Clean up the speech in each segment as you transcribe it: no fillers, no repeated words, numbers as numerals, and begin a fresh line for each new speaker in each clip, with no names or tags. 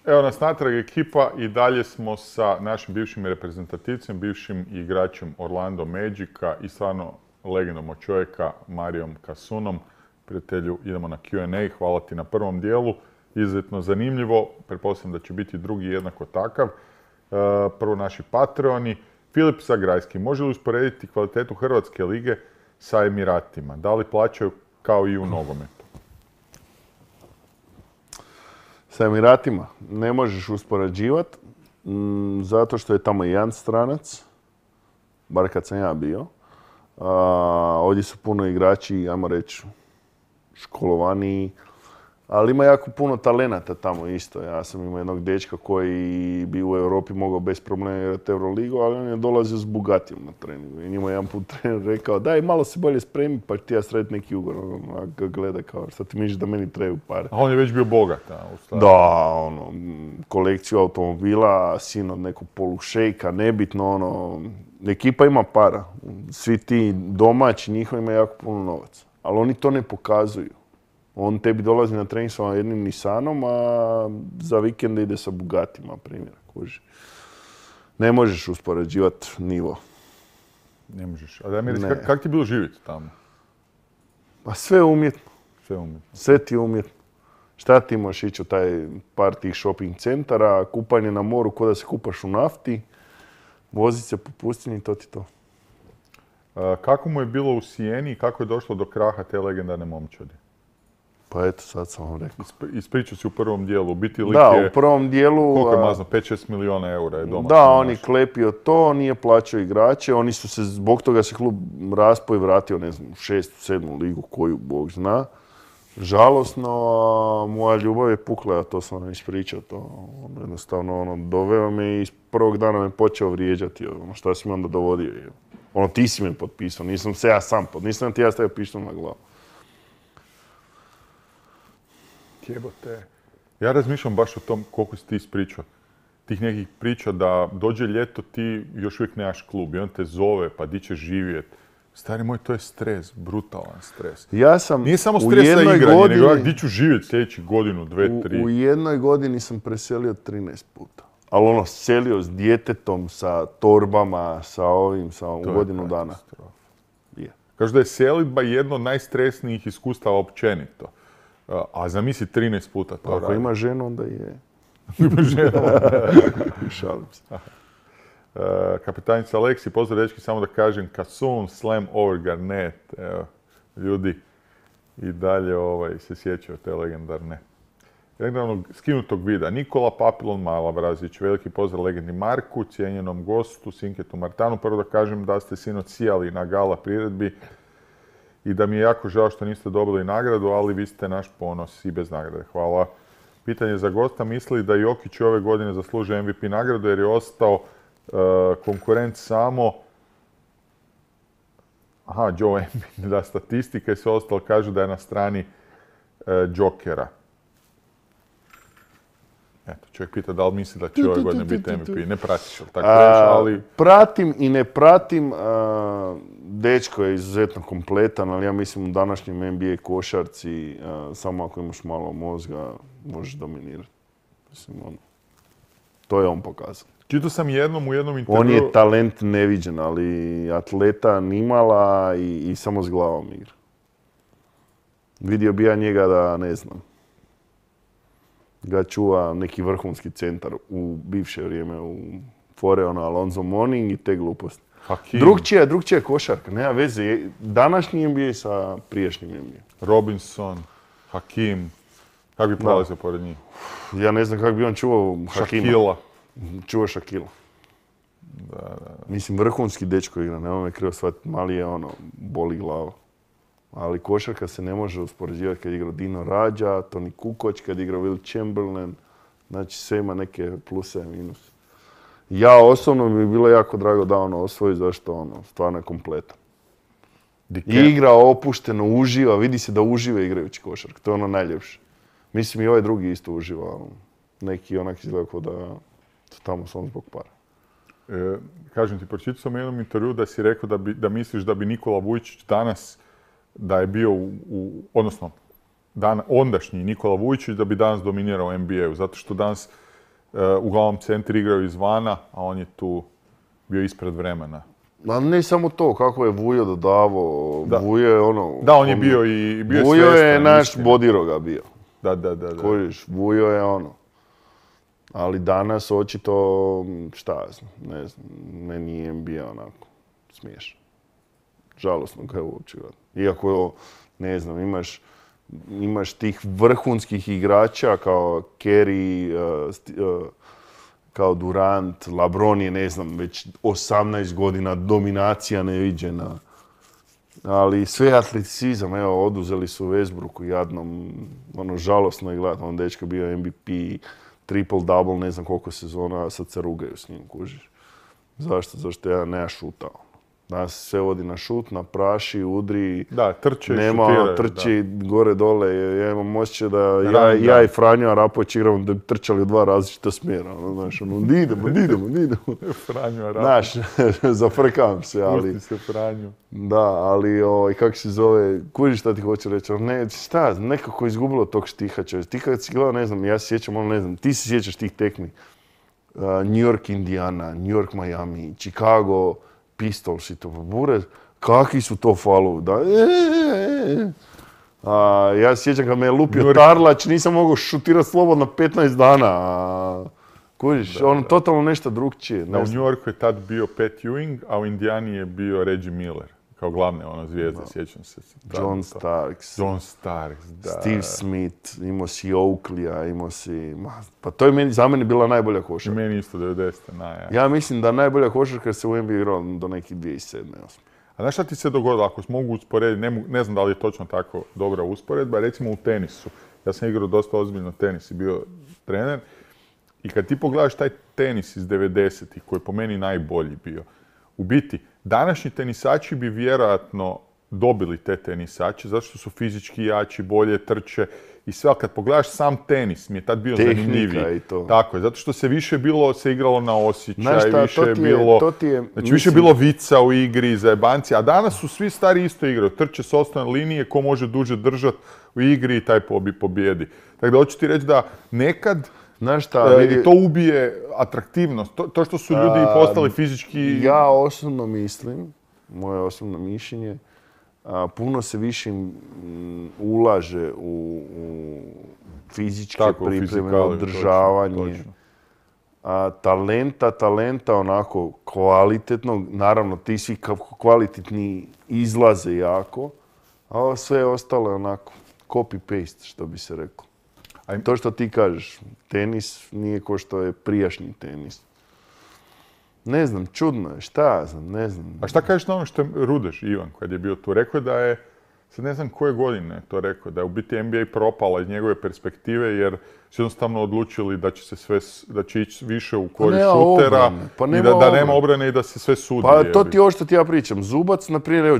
Evo nas natrag ekipa i dalje smo sa našim bivšim reprezentativcem, bivšim igračem Orlando Magica i stvarno legendom od čovjeka Marijom Kasunom. Prijatelju, idemo na Q&A. Hvala ti na prvom dijelu. Izuzetno zanimljivo. Pretpostavljam da će biti drugi jednako takav. Prvo naši Patreoni. Filip Zagrajski. Može li usporediti kvalitetu Hrvatske lige sa Emiratima? Da li plaćaju kao i u nogometu?
Sa Emiratima ne možeš uspoređivati, zato što je tamo jedan stranac, bar kad sam ja bio. Ovdje su puno igrači, ajmo reći, školovaniji, ali ima jako puno talenata tamo isto. Ja sam imao jednog dečka koji bi u Europi mogao bez problema igrati Euroligu, ali on je dolazio s Bugatijom na treningu. I njima jedan put trener rekao, daj malo se bolje spremi pa ti ja srediti neki ugovor. A ga gleda kao, šta ti misliš da meni trebaju pare?
A on je već bio bogat,
Da, kolekciju automobila, sin od nekog polušejka, nebitno, ekipa ima para. Svi ti domaći, njihovi imaju jako puno novaca. Ali oni to ne pokazuju. On tebi dolazi na trening sa jednim Nissanom, a za vikende ide sa Bugatima, primjera, kuži. Ne možeš uspoređivati nivo.
Ne možeš. A da mi reći, kako ti je bilo živjeti tamo?
Pa sve je umjetno.
Sve je umjetno.
Sve ti je umjetno. Šta ti možeš ići u taj par tih shopping centara, kupanje na moru ko da se kupaš u nafti, voziti se po pustinji, to ti to.
Kako mu je bilo u Sijeni i kako je došlo do kraha te legendarne momčadi?
Pa eto, sad sam vam rekao.
Ispričao si u prvom dijelu. Biti lik
da, u prvom dijelu...
Koliko je mazno? 5-6 milijuna eura je doma.
Da, on je klepio to, nije plaćao igrače. Oni su se, zbog toga se klub raspao i vratio, ne znam, u 6. 7. ligu, koju Bog zna. Žalosno, moja ljubav je pukla, a to sam vam ispričao. Jednostavno, doveo me i iz prvog dana me počeo vrijeđati. Šta si me onda dovodio? Ti si me potpisao, nisam se ja sam potpisao, nisam ti ja stavio pištolj na glavu.
Jebote. Ja razmišljam baš o tom koliko si ti ispričao. Tih nekih priča da dođe ljeto, ti još uvijek nemaš klub i on te zove, pa di ćeš živjeti. Stari moj, to je stres, brutalan stres.
Nije
samo stres za igranje, nego di ću živjeti sljedećih godinu, 2, 3.
U jednoj godini sam preselio 13 puta. Ali selio s djetetom, sa torbama, sa ovim, u godinu dana.
Kažu da je selidba jedno od najstresnijih iskustava općenito. A zamisli 13 puta to radi.
Ako ima ženu, onda je.
Ima ženu, onda
šalim se.
Kapetanica Aleksi, pozdrav dečki, samo da kažem, Kasun, Slam over Garnett. Evo, ljudi i dalje se sjećaju te legendarnog skinutog vida. Nikola Papilon Malabrazić, veliki pozdrav legendi Marku, cijenjenom gostu, Sinketu Martanu. Prvo da kažem da ste sinoć sijali na gala priredbi i da mi je jako žao što niste dobili nagradu, ali vi ste naš ponos i bez nagrade. Hvala. Pitanje za gosta, misli da Jokić ove godine zaslužuje MVP nagradu jer je ostao konkurent samo Joe Embiid, da statistika i sve ostalo kažu da je na strani Jokera. Eto, čovjek pita da li misli da će ove godine biti MVP. Ne pratiš, ali tako reći, ali...
Pratim i ne pratim. Dečko je izuzetno kompletan, ali ja mislim u današnjem NBA košarci, samo ako imaš malo mozga, možeš dominirati. Mislim, to je on pokazao.
Čitao sam jednom u jednom intervju...
On je talent neviđen, ali atleta nimala i samo s glavom igra. Vidio bi ja njega da, ne znam, ga čuva neki vrhunski centar u bivše vrijeme u fore, Alonzo Mourning i te gluposti. Drugčija košarka, nema veze. Današnji NBA sa prijašnjim NBA.
Robinson, Hakim, kako bi prolazio pored njih?
Ja ne znam kako bi on čuvao Hakima.
Šakila.
Čuva Šakila.
Da.
Mislim, vrhunski dečko igra, nema me krivo shvatiti, mali je boli glava. Ali košarka se ne može uspoređivati kad igra Dino Radja, Toni Kukoč, kad igra Will Chamberlain. Znači, sve ima neke pluse i minuse. Ja osobno bi bilo jako drago da osvoji, zašto stvarno je kompletan. Igra opušteno, uživa, vidi se da uživa igrajući košarku, to je najljepše. Mislim i ovaj drugi isto uživa, neki onak izgleda kao da su tamo samo zbog para.
Kažem ti, pročitao sam u jednom intervju da si rekao da misliš da bi Nikola Vujčić danas, da je bio odnosno ondašnji Nikola Vujčić da bi danas dominirao NBA-u, zato što danas uglavnom centri igraju izvana, a on je tu bio ispred vremena.
Ma ne samo to, kako je Vujo dodavao, Vujo je ono...
Da, on je bio i bio
Vujo je
svjestan,
naš
istina.
Bodiroga bio.
Da.
Kojiš, Vujo je ono. Ali danas očito, šta ja znam, ne znam, meni je NBA onako smiješan. Žalosno ga je uopće gledati. Iako, ne znam, imaš tih vrhunskih igrača kao Kerry, kao Durant, LeBron je, ne znam, već 18 godina dominacija neviđena. Ali sve atleticizam, evo, oduzeli su Westbrooku jadnom, ono, žalosno je gledati. On dečko bio MVP, triple-double, ne znam koliko sezona, a sad se rugaju s njim, kužiš. Zašto? Zašto ja nema šutao. Danas sve vodi na šut, na praši, udri.
Da, trče i
nema,
šutiraju.
trči gore dole. Ja imam osjećaj da
Ja
i Franjo Arapović igramo da bi trčali u dva različita smjera. Znaš, di idemo.
Franjo Arapović.
Znaš, zafrkavam se, ali...
Pusti se Franju.
Da, ali kako se zove, kužiš šta ti hoću reći, ne, šta, nekako izgubilo tog štiha čovjek. Ti kad si gledao, ne znam, ja se sjećam, ono ne znam, ti se sjećaš tih tekmi. New York, Indiana, New York, Miami, Chicago, Pistols i to, bure, kakvi su to falovi, da, ja se sjećam kad me je lupio Tarlač, nisam mogao šutirati slobodno 15 dana. Kužiš, ono totalno nešto drugčije.
Da, u New Yorku je tad bio Pat Ewing, a u Indijani je bio Reggie Miller. Kao glavne zvijezde, sjećam se.
John Starks,
da.
Steve Smith, imao si Oakleya, imao si... Pa to je za mene bila najbolja košarka.
I meni isto 90.
Ja mislim da najbolja košarka se u NBA igrala do nekih 2007.
A znaš šta ti se dogodilo, ako mogu usporediti, ne znam da li je točno tako dobra usporedba, recimo u tenisu. Ja sam igrao dosta ozbiljno tenis i bio trener. I kad ti pogledaš taj tenis iz 90-ih, koji je po meni najbolji bio, u biti, današnji tenisači bi vjerojatno dobili te tenisače, zato što su fizički jači, bolje trče i sve, ali kad pogledaš sam tenis, mi je tad bio zanimljiviji.
I to.
Tako je, zato što se igralo na osjećaj,
Znači,
više je bilo vica u igri, zajebanci, a danas su svi stari isto igraju, trče s osnovne linije, ko može duže držati u igri i taj pobjedi. Tako da hoću ti reći da nekad to ubije atraktivnost, to što su ljudi postali fizički...
Ja osobno mislim, moje osobno mišljenje, puno se više ulaže u fizičke pripreme, održavanje. Talenta onako kvalitetnog, naravno ti svi kvalitetni izlaze jako, a ovo sve ostalo je onako copy-paste, što bi se reklo. To što ti kažeš, tenis nije ko što je prijašnji tenis. Ne znam, čudno je, šta ja znam, ne znam.
A šta kažeš na ono što je Rudeš, Ivan, kad je bio tu? Rekao je da je, sad ne znam koje godine je to rekao, da je u biti NBA propala iz njegove perspektive jer su jednostavno odlučili da će ići više u korist šutera i da nema obrane i da se sve sudi.
Pa to ti je ovo što ti ja pričam. Zubac, na primjer, evo,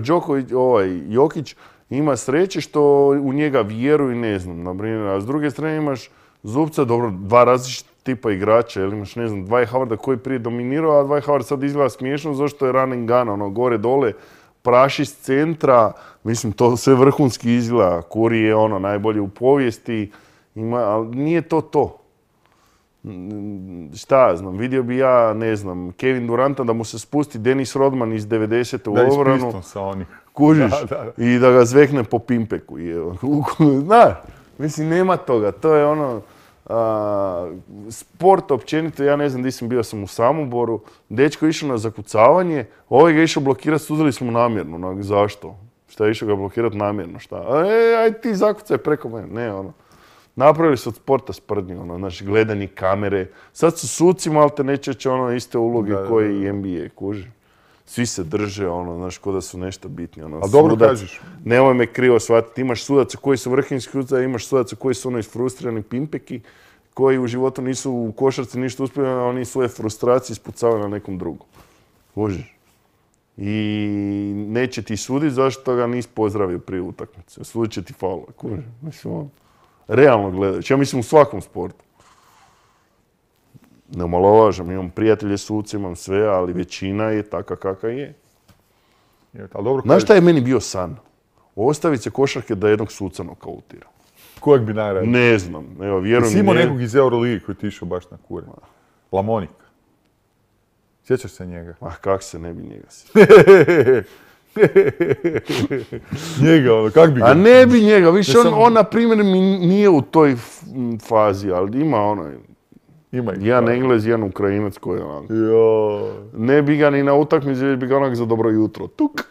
Jokić, ima sreće što u njega vjeruju, ne znam, na primjer, a s druge strane imaš Zubca, dobro, dva različita tipa igrača, ili imaš, ne znam, Dwight Howarda koji je prije dominirao, a Dwight Howard sad izgleda smiješno zašto je run and gun, ono, gore, dole, praši s centra, mislim, to sve vrhunski izgleda, Curry je ono, najbolje u povijesti, ali nije to. Šta ja znam, vidio bi ja, ne znam, Kevin Duranta da mu se spusti Dennis Rodman iz 90. u obranu.
Da, sa onih.
Kužiš, i da ga zvekne po pimpeku. Znaš, mislim, nema toga. To je ono, sport općenito, ja ne znam di sam bio, sam u Samoboru, dečko je išao na zakucavanje, ovaj ga išao blokirati, sudili smo namjerno. Zašto? Šta je išao ga blokirati namjerno? Šta? Aj ti zakucaj preko mene. Ne, ono. Napravili su od sporta sprdnju, ono, znači gledanje kamere. Sad su suci malte neće ono iste uloge koje i NBA, kuži. Svi se drže, ono, znaš, ko da su nešto bitni. Ono,
ali dobro kažeš.
Nemoj me krivo shvatiti, imaš sudaca koji su vrhunski sudaca, imaš sudaca koji su ono isfrustrirani pimpeki, koji u životu nisu u košarci ništa uspjeli, a oni svoje frustracije ispucavaju na nekom drugom. Kužiš. I neće ti suditi zašto ga nisi pozdravio prije utakmice. Sudit će ti faul, kužiš. Mislim, ono, realno gledajući, ja mislim u svakom sportu. Ne omalovažam, imam prijatelje suci, imam sve, ali većina je taka kakva je. Znaš šta je meni bio san? Ostaviti se košarke da jednog suca nokautira.
Kojeg bi najradije?
Ne znam, evo, vjerujem
Jesi imao nekog iz Euroligi koji ti išao baš na kure? Lamonik. Sjećaš se njega?
Kak se ne bi njega sjećao?
Njega, ono, kak bi ga?
A ne bi njega, više on na primjer mi nije u toj fazi, ali ima ono,
Ima ih.
jedan Englez, jedan Ukrajinac koji je onako.
Jo.
Ne bi ga ni na utakmici, već bi ga onak za dobro jutro. Tuk.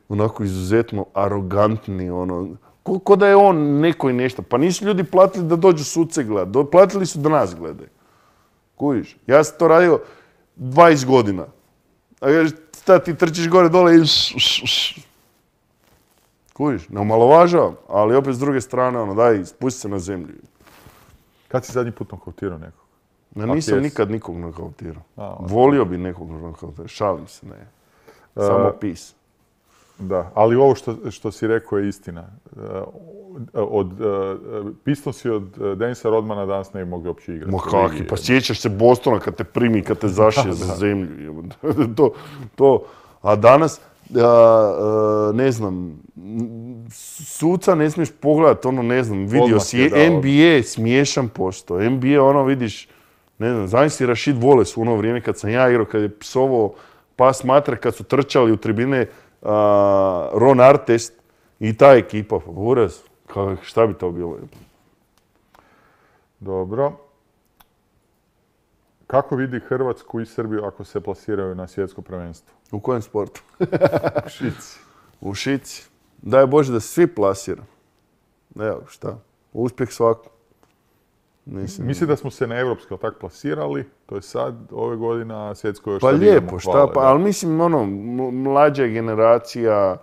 Onako izuzetno arogantni, ono. Ko da je on neko i nešto. Pa nisu ljudi platili da dođu suce gledati. Platili su da nas gledaju. Kužiš? Ja sam to radio 20 godina. A šta ti trčiš gore dole i kužiš? Ne omalovažavam, ali opet s druge strane, ono, daj, spusti se na zemlju.
Kad si zadnji put nokautirao nekog?
Ja nisam nikad nikog nokautirao.
Okay.
Volio bi nekog nokautirao. Šalim se, ne. Samo pis.
Da, ali ovo što si rekao je istina. Pistonsi od Denisa Rodmana danas ne bi mogli uopće igrati.
Ma kaki, pa sjećaš se Bostona kad te primi, kad te zašije za zemlju. A danas, ne znam, suca ne smiješ pogledati, ono ne znam, vidio si, NBA smiješan posto. NBA, ono vidiš, ne znam, zamisli Rashid Wallace u ono vrijeme kad sam ja igrao, kad je psovao pas matre, kad su trčali u tribine Ron Artest i ta ekipa, uraz, šta bi to bilo?
Dobro. Kako vidi Hrvatsku i Srbiju ako se plasiraju na svjetsko prvenstvo?
U kojem sportu?
U šici.
U šici. Daj Bože da se svi plasira. Evo, šta? Uspjeh svaku.
Mislim da smo se na evropsko tak plasirali, to je sad, ove godine, a svjetsko još
pa
sad
lijepo,
idemo,
šta pa, ali mislim, ono, mlađa generacija,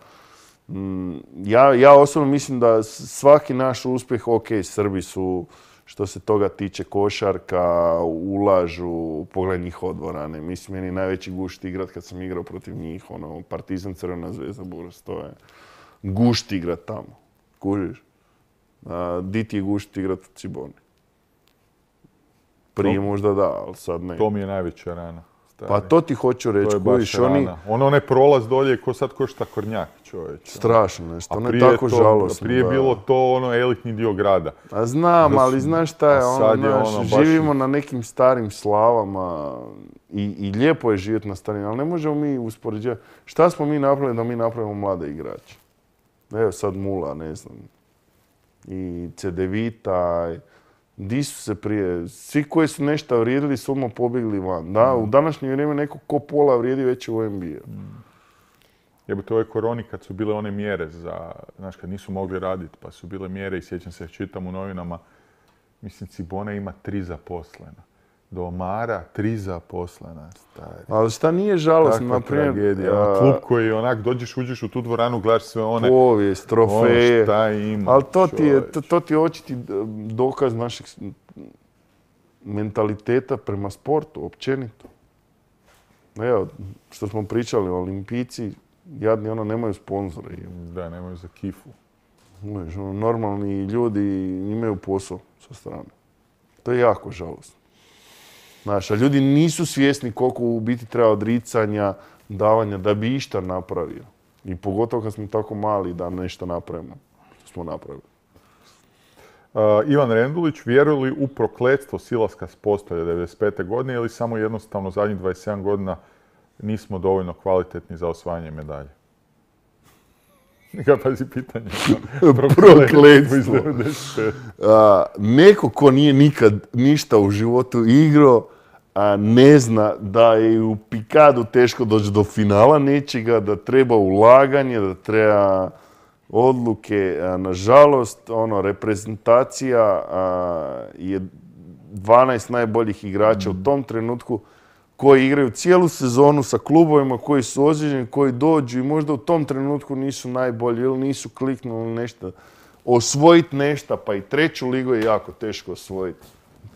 ja osobno mislim da svaki naš uspjeh, ok, Srbi su, što se toga tiče, košarka, ulažu, pogledaj njihove dvorane. Mislim, meni je najveći gušt igrat kad sam igrao protiv njih, ono, Partizan, Crvena zvezda, Buras, to je gušt igrat tamo, kužiš? Di ti je gušt igrat u Ciboni? Prije možda da, ali sad ne.
To mi je najveća rana. Stari.
Pa to ti hoću reći,
kojiš oni... Onaj prolaz dolje ko sad košta Kornjak, čovječ.
Strašno nešto, ono je tako žalosno.
Prije je bilo to ono elitni dio grada.
A znam, ali znaš šta je, živimo na nekim starim slavama i lijepo je živjeti na starim, ali ne možemo mi uspoređivati. Šta smo mi napravili da mi napravimo mlade igrače? Evo sad Mula, ne znam, i Cedevita, di su se prije, svi koji su nešto vrijedili su odmah pobjegli van. Da, u današnje vrijeme neko ko pola vrijedi već u NBA.
Jebote, ove koroni kad su bile one mjere za, znaš, kad nisu mogli raditi, pa su bile mjere i sjećam se, čitam u novinama, mislim, Cibona ima 3 zaposlena. Do Omara 3 zaposlena, stari.
Ali šta nije žalostno, na primjer...
Tragedija. Klub koji onak, uđeš u tu dvoranu, gledaš sve one...
Povijest, trofeje.
Ono šta ima,
ali to ti je očiti dokaz našeg mentaliteta prema sportu, općenito. Evo, što smo pričali, olimpijci, jadni ono, nemaju sponzore.
Da, nemaju za kifu.
Normalni ljudi imaju posao sa strane. To je jako žalostno. Znaš, a ljudi nisu svjesni koliko u biti treba odricanja, davanja da bi išta napravio. I pogotovo kad smo tako mali da nešto napravimo. Što smo napravili.
Ivan Rendulić, vjeruje li u prokletstvo silaska s postolja 95. godine ili samo jednostavno zadnjih 27 godina nismo dovoljno kvalitetni za osvajanje medalje? Neka pazi pitanje.
Prokletstvo. Neko ko nije nikad ništa u životu igrao, a ne zna da je u pikadu teško doći do finala nečega, da treba ulaganje, da treba odluke. Nažalost, reprezentacija je 12 najboljih igrača u tom trenutku koji igraju cijelu sezonu sa klubovima koji su ozlijeđeni, koji dođu i možda u tom trenutku nisu najbolji ili nisu kliknuli nešto. Osvojiti nešto, pa i 3. ligu je jako teško osvojiti.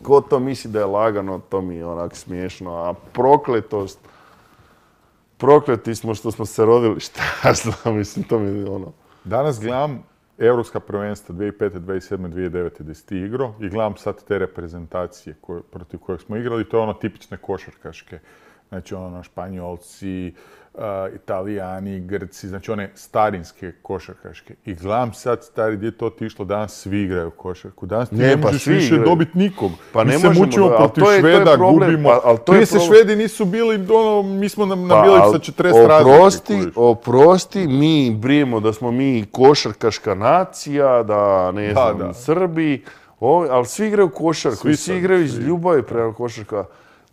Ko to misli da je lagano, to mi je onak smiješno. A prokletost, prokleti smo što smo se rodili, šta znam, mislim, to mi je ono...
Danas gledam Europska prvenstva 2005. 2007. 2009. gdje si ti igrao i gledam sad te reprezentacije protiv kojeg smo igrali. To je ono tipične košarkaške. Znači Španjolci, Italijani, Grci, znači one starinske košarkaške. I gledam sad, stari, gdje je to otišlo, danas svi igraju košarku. Danas ti ne možeš više dobiti nikog.
Pa
mi se mučimo protiv Šveda, gubimo. Prije se Švedi nisu bili, mi smo nabili sa 40 razlike.
Oprosti, mi brijemo da smo mi košarkaška nacija, da ne znam, Srbi, ali svi igraju košarku, svi igraju iz ljubavi prema košarka.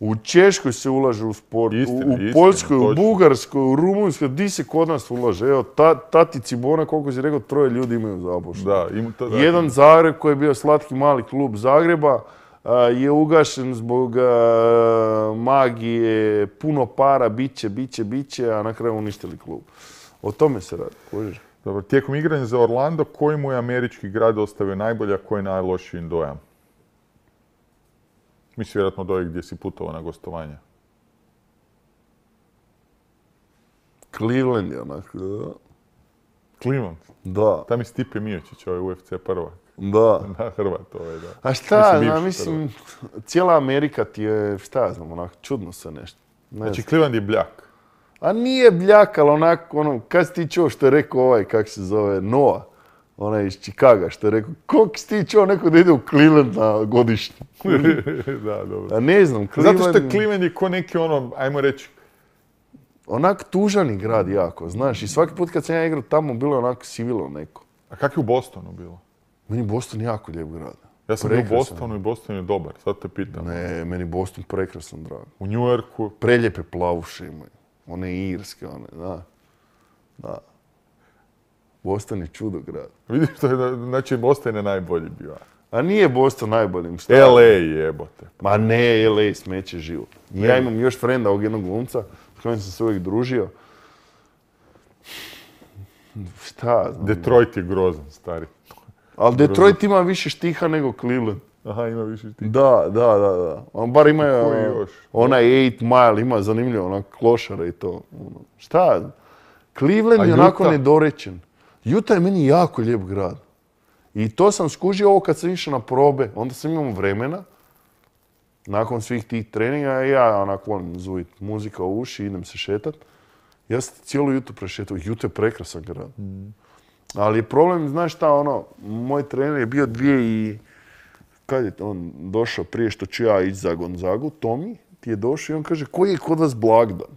U Češkoj se ulaže u sport, u Poljskoj, u Bugarskoj, u Rumunjskoj, di se kod nas ulaže. Evo, Tati Cibona, koliko si rekao, 3 ljudi imaju zapošljeno. Jedan Zagreb koji je bio slatki mali klub Zagreba je ugašen zbog magije, puno para, biće, a na kraju uništili klub. O tome se radi, kožiš.
Dobro, tijekom igranja za Orlando, koji mu je američki grad ostavio najbolje, a koji najlošiji dojam? Misli vjerojatno od ovih gdje si putovao na gostovanja.
Cleveland je onako, da.
Cleveland?
Da.
Tam je Stipe Miocić, ovaj UFC prvak.
Da.
Na Hrvat ovaj, da.
A šta, mislim, cijela Amerika ti je, šta ja znam, onako, čudno se nešto.
Znači, Cleveland je bljak.
A nije bljak, ali onako, kad si ti čuo što je rekao ovaj, kak se zove, Noah? Onaj iz Chicaga što je rekao, koliko si ti čuo neko da ide u Cleveland na godišnji?
Da, dobro.
A ne znam, Cleveland...
Zato što Cleveland je ko neki ajmo reći...
Onak tužani grad jako, znaš. I svaki put kad sam ja igrao tamo, bilo je onako sivilo neko.
A kak je u Bostonu bilo?
Meni Boston jako lijep grad.
Ja sam bio u Bostonu i Boston je dobar, sad te pitam.
Ne, meni Boston prekrasan drag.
U New Yorku?
Preljepe plavuše imaju. One irske, da. Boston je čudo grad.
Vidiš što je, znači Boston je najbolji bio.
A nije Boston najbolji.
LA jebote.
Ma ne, LA smeće život. Ja imam još frenda ovog jednog glumca s kojim sam se uvijek družio. Šta znam.
Detroit je grozan, stari.
Ali Detroit ima više štiha nego Cleveland.
Aha, ima više štiha.
Da. On bar ima onaj 8 Mile, ima zanimljivo, onak klošara i to. Šta? Cleveland je onako nedorečen. Utah je meni jako lijep grad. I to sam skužio ovo kad sam išao na probe. Onda sam imao vremena. Nakon svih tih treninga, ja onako volim zuvit muzika u uši, idem se šetat. Ja sam cijelu Utah prešetao. Utah je prekrasan grad. Ali je problem, znaš šta, moj trener je bio kad je on došao prije što ću ja ići za Gonzagu, Tomi ti je došao i on kaže, koji je kod vas blagdan?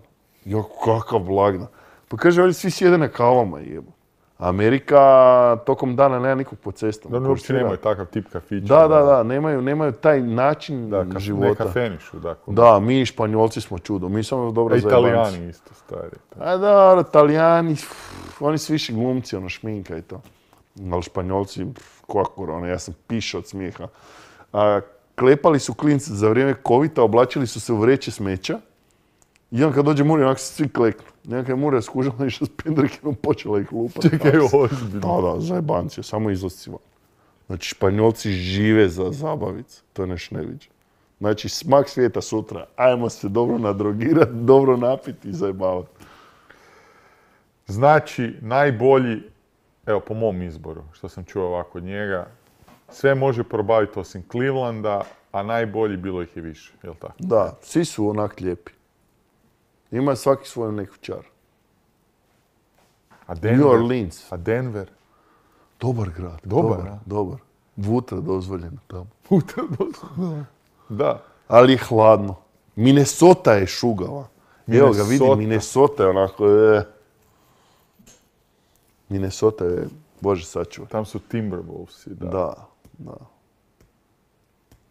Ja, kakav blagdan? Pa kaže, ali svi sjede na kavama, jebo. Amerika tokom dana nema nikog po cestama.
Da, uopće nemaju takav tip kafića.
Da, nemaju taj način života.
Ne kafenišu, dakle.
Da, mi Španjolci smo čudo, mi smo dobro zajebanci.
Italijani isto, stari.
A da, Italijani, oni su više glumci, šminka i to. Ali Španjolci, kako, ja sam pišao od smijeha. Klepali su klinci za vrijeme covida, oblačili su se u vreće smeća. I on kad dođe Murija, onako se svi kleknu. Nekak je Murija skužala išla s pendrekinom, počela ih lupati.
Čekaj, ozbiljno.
Da, zajebanci, samo izlascima. Znači, Španjolci žive za zabavicu. To je nešto neviđeno. Znači, smak svijeta sutra. Ajmo se dobro nadrogirati, dobro napiti i zajebavati.
Znači, najbolji, evo po mom izboru, što sam čuo ovako od njega, sve može probaviti osim Clevelanda, a najbolji bilo ih je više, jel tako?
Da, svi su onak lijepi. Ima svaki svoj neku čar.
A Denver?
New Orleans.
A Denver?
Dobar grad. Dobar. Vutra dozvoljena tamo.
Vutra dozvoljena? Da.
Ali je hladno. Minnesota je šugava. Evo ga, vidim, Minnesota je onako... Minnesota je, Bože sačuvaj.
Tam su Timberwolvesi, da.
Da.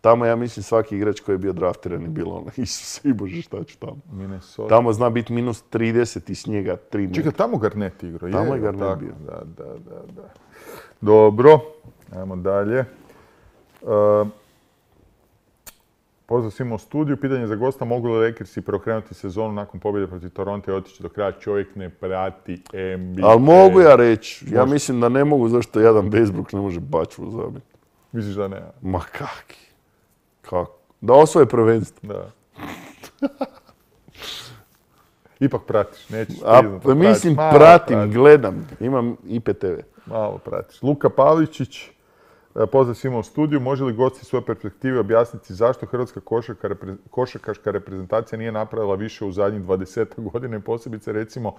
Tamo, ja mislim, svaki igrač koji je bio draftiran je bilo Isuse i Bože, šta ću tamo.
Minnesota.
Tamo zna biti minus 30 i snijega 3 metra.
Čekaj, tamo Garnett igrao.
Tamo je Garnett bio.
Da. Dobro, ajmo dalje. Pozdrav svima u studiju. Pitanje za gosta, mogu li Lakersi preokrenuti sezonu nakon pobjede protiv Toronto i otići do kraja? Čovjek ne prati NBA.
Ali mogu ja reći. Ja mislim da ne mogu, zašto jedan Westbrook ne može bačvu zabiti.
Misliš da ne?
Ma kaki. Kako? Da osvoje prvenstvo.
Da. Ipak pratiš, nećeš
priznat. Mislim, pratim, gledam. Imam IPTV.
Malo pratiš. Luka Pavličić, Pozdrav svima u studiju. Može li gosti svoje perspektive objasniti zašto hrvatska košarkaška reprezentacija nije napravila više u zadnjih 20 godina i posebice recimo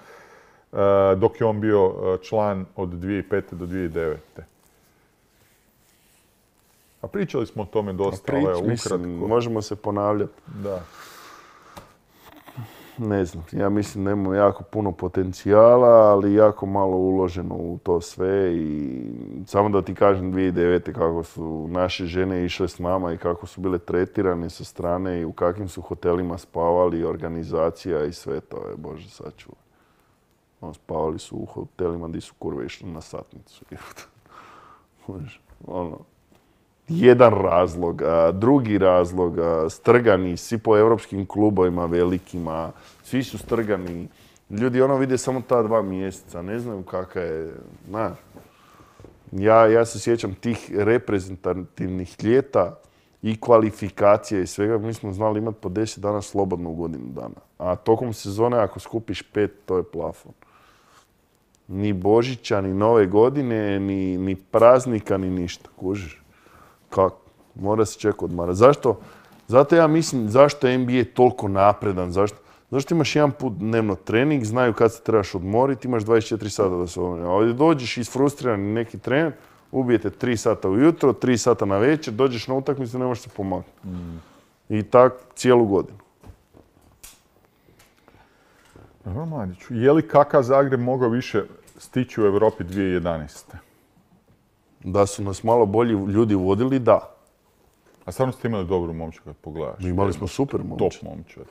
dok je on bio član od 2005. do 2009. A pričali smo o tome dosta, ali ukratko.
Možemo se ponavljati.
Da.
Ne znam, ja mislim da imamo jako puno potencijala, ali jako malo uloženo u to sve i samo da ti kažem 2009. kako su naše žene išle s nama i kako su bile tretirane sa strane i u kakvim su hotelima spavali, organizacija i sve to je, Bože sačuvaj. Spavali su u hotelima gdje su kurve išli na satnicu. Jedan razlog, drugi razlog, strgani, svi po europskim klubovima velikima, svi su strgani. Ljudi vide samo ta 2 mjeseca, ne znaju kakva je, Ja se sjećam tih reprezentativnih ljeta i kvalifikacije i svega, mi smo znali imati po 10 dana slobodno u godinu dana. A tokom sezone ako skupiš 5, to je plafon. Ni Božića, ni Nove godine, ni praznika, ni ništa, kužiš. Kako? Mora se čekati odmarati. Zašto? Zato ja mislim zašto je NBA toliko napredan. Zašto imaš jedan put dnevno trening, znaju kad se trebaš odmoriti, imaš 24 sata da se odmori. A ovdje dođeš isfrustriran neki trener, ubijete 3 sata ujutro, 3 sata na večer, dođeš na utakmicu i ne možeš se pomaknuti. I tako cijelu godinu.
Dobro, Mladiću. Je li KK Zagreb mogao više stići u Europi 2011.
Da su nas malo bolji ljudi vodili, da.
A stvarno ste imali dobru momčad kad pogledaš?
Imali smo super momčad.
Top momčad.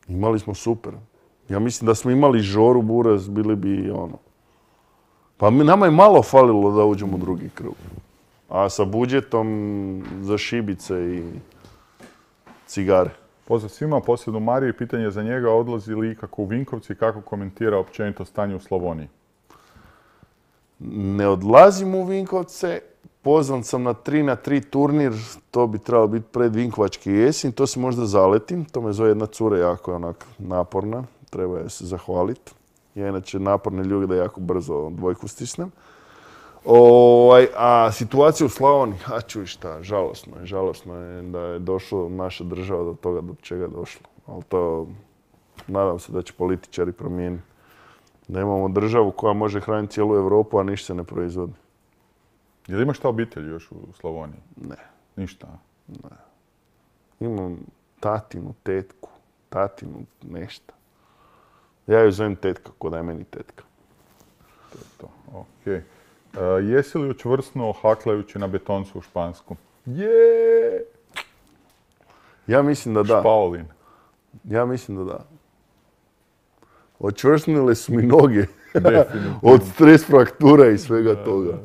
Imali smo super. Ja mislim da smo imali Žoru Buraz, bili bi Pa nama je malo falilo da uđemo u drugi krug. A sa budžetom za šibice i cigare.
Pozdrav svima, posebno Mariju, pitanje za njega, odlazi li ikako u Vinkovci i kako komentira općenito stanje u Slavoniji?
Ne odlazim u Vinkovce, pozvan sam na 3x3 turnir, to bi trebalo biti pred Vinkovački jesen, to se možda zaletim, to me zove jedna cura jako onak naporna, treba je se zahvaliti. Ja inače naporne ljude da jako brzo dvojku stisnem. A situacija u Slavoniji, čuj šta, žalosno je da je došlo naša država do toga do čega je došlo. Ali to nadam se da će političari promijeniti. Da imamo državu koja može hraniti cijelu Europu, a ništa se ne proizvodi.
Je li imaš ta obitelj još u Slavoniji?
Ne.
Ništa?
Ne. Imam tatinu, tetku, nešto. Ja ju zovem tetka, ko da je meni tetka.
To je to, okej. Jesi li učvrsnuo haklajući na betoncu u Špansku?
Ja mislim da da.
Špaolin.
Ja mislim da da. Očvrsnule su mi noge od stres fraktura i svega toga.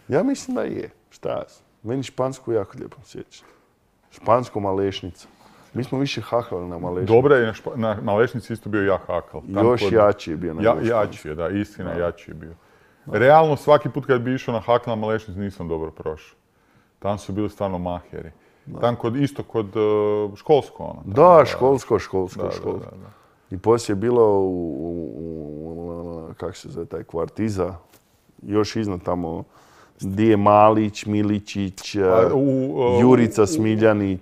Ja mislim da je. Šta ja sam? Meni Špansku jako lijepo sjeća. Špansko Malešnica. Mi smo više haklali na Malešnici.
Dobro je na Malešnici isto bio jak hakal.
Još jači je bio na Malešnici.
Jači je, da, istina, jači je bio. Realno, svaki put kad bi išao na hakl na Malešnici nisam dobro prošao. Tam su bili stvarno maheri. Tam isto kod školsko.
Da, školsko. I poslije je bilo kako se zove taj kvart iza, još iznad tamo, gdje je Malić, Miličić, Jurica Smiljanić.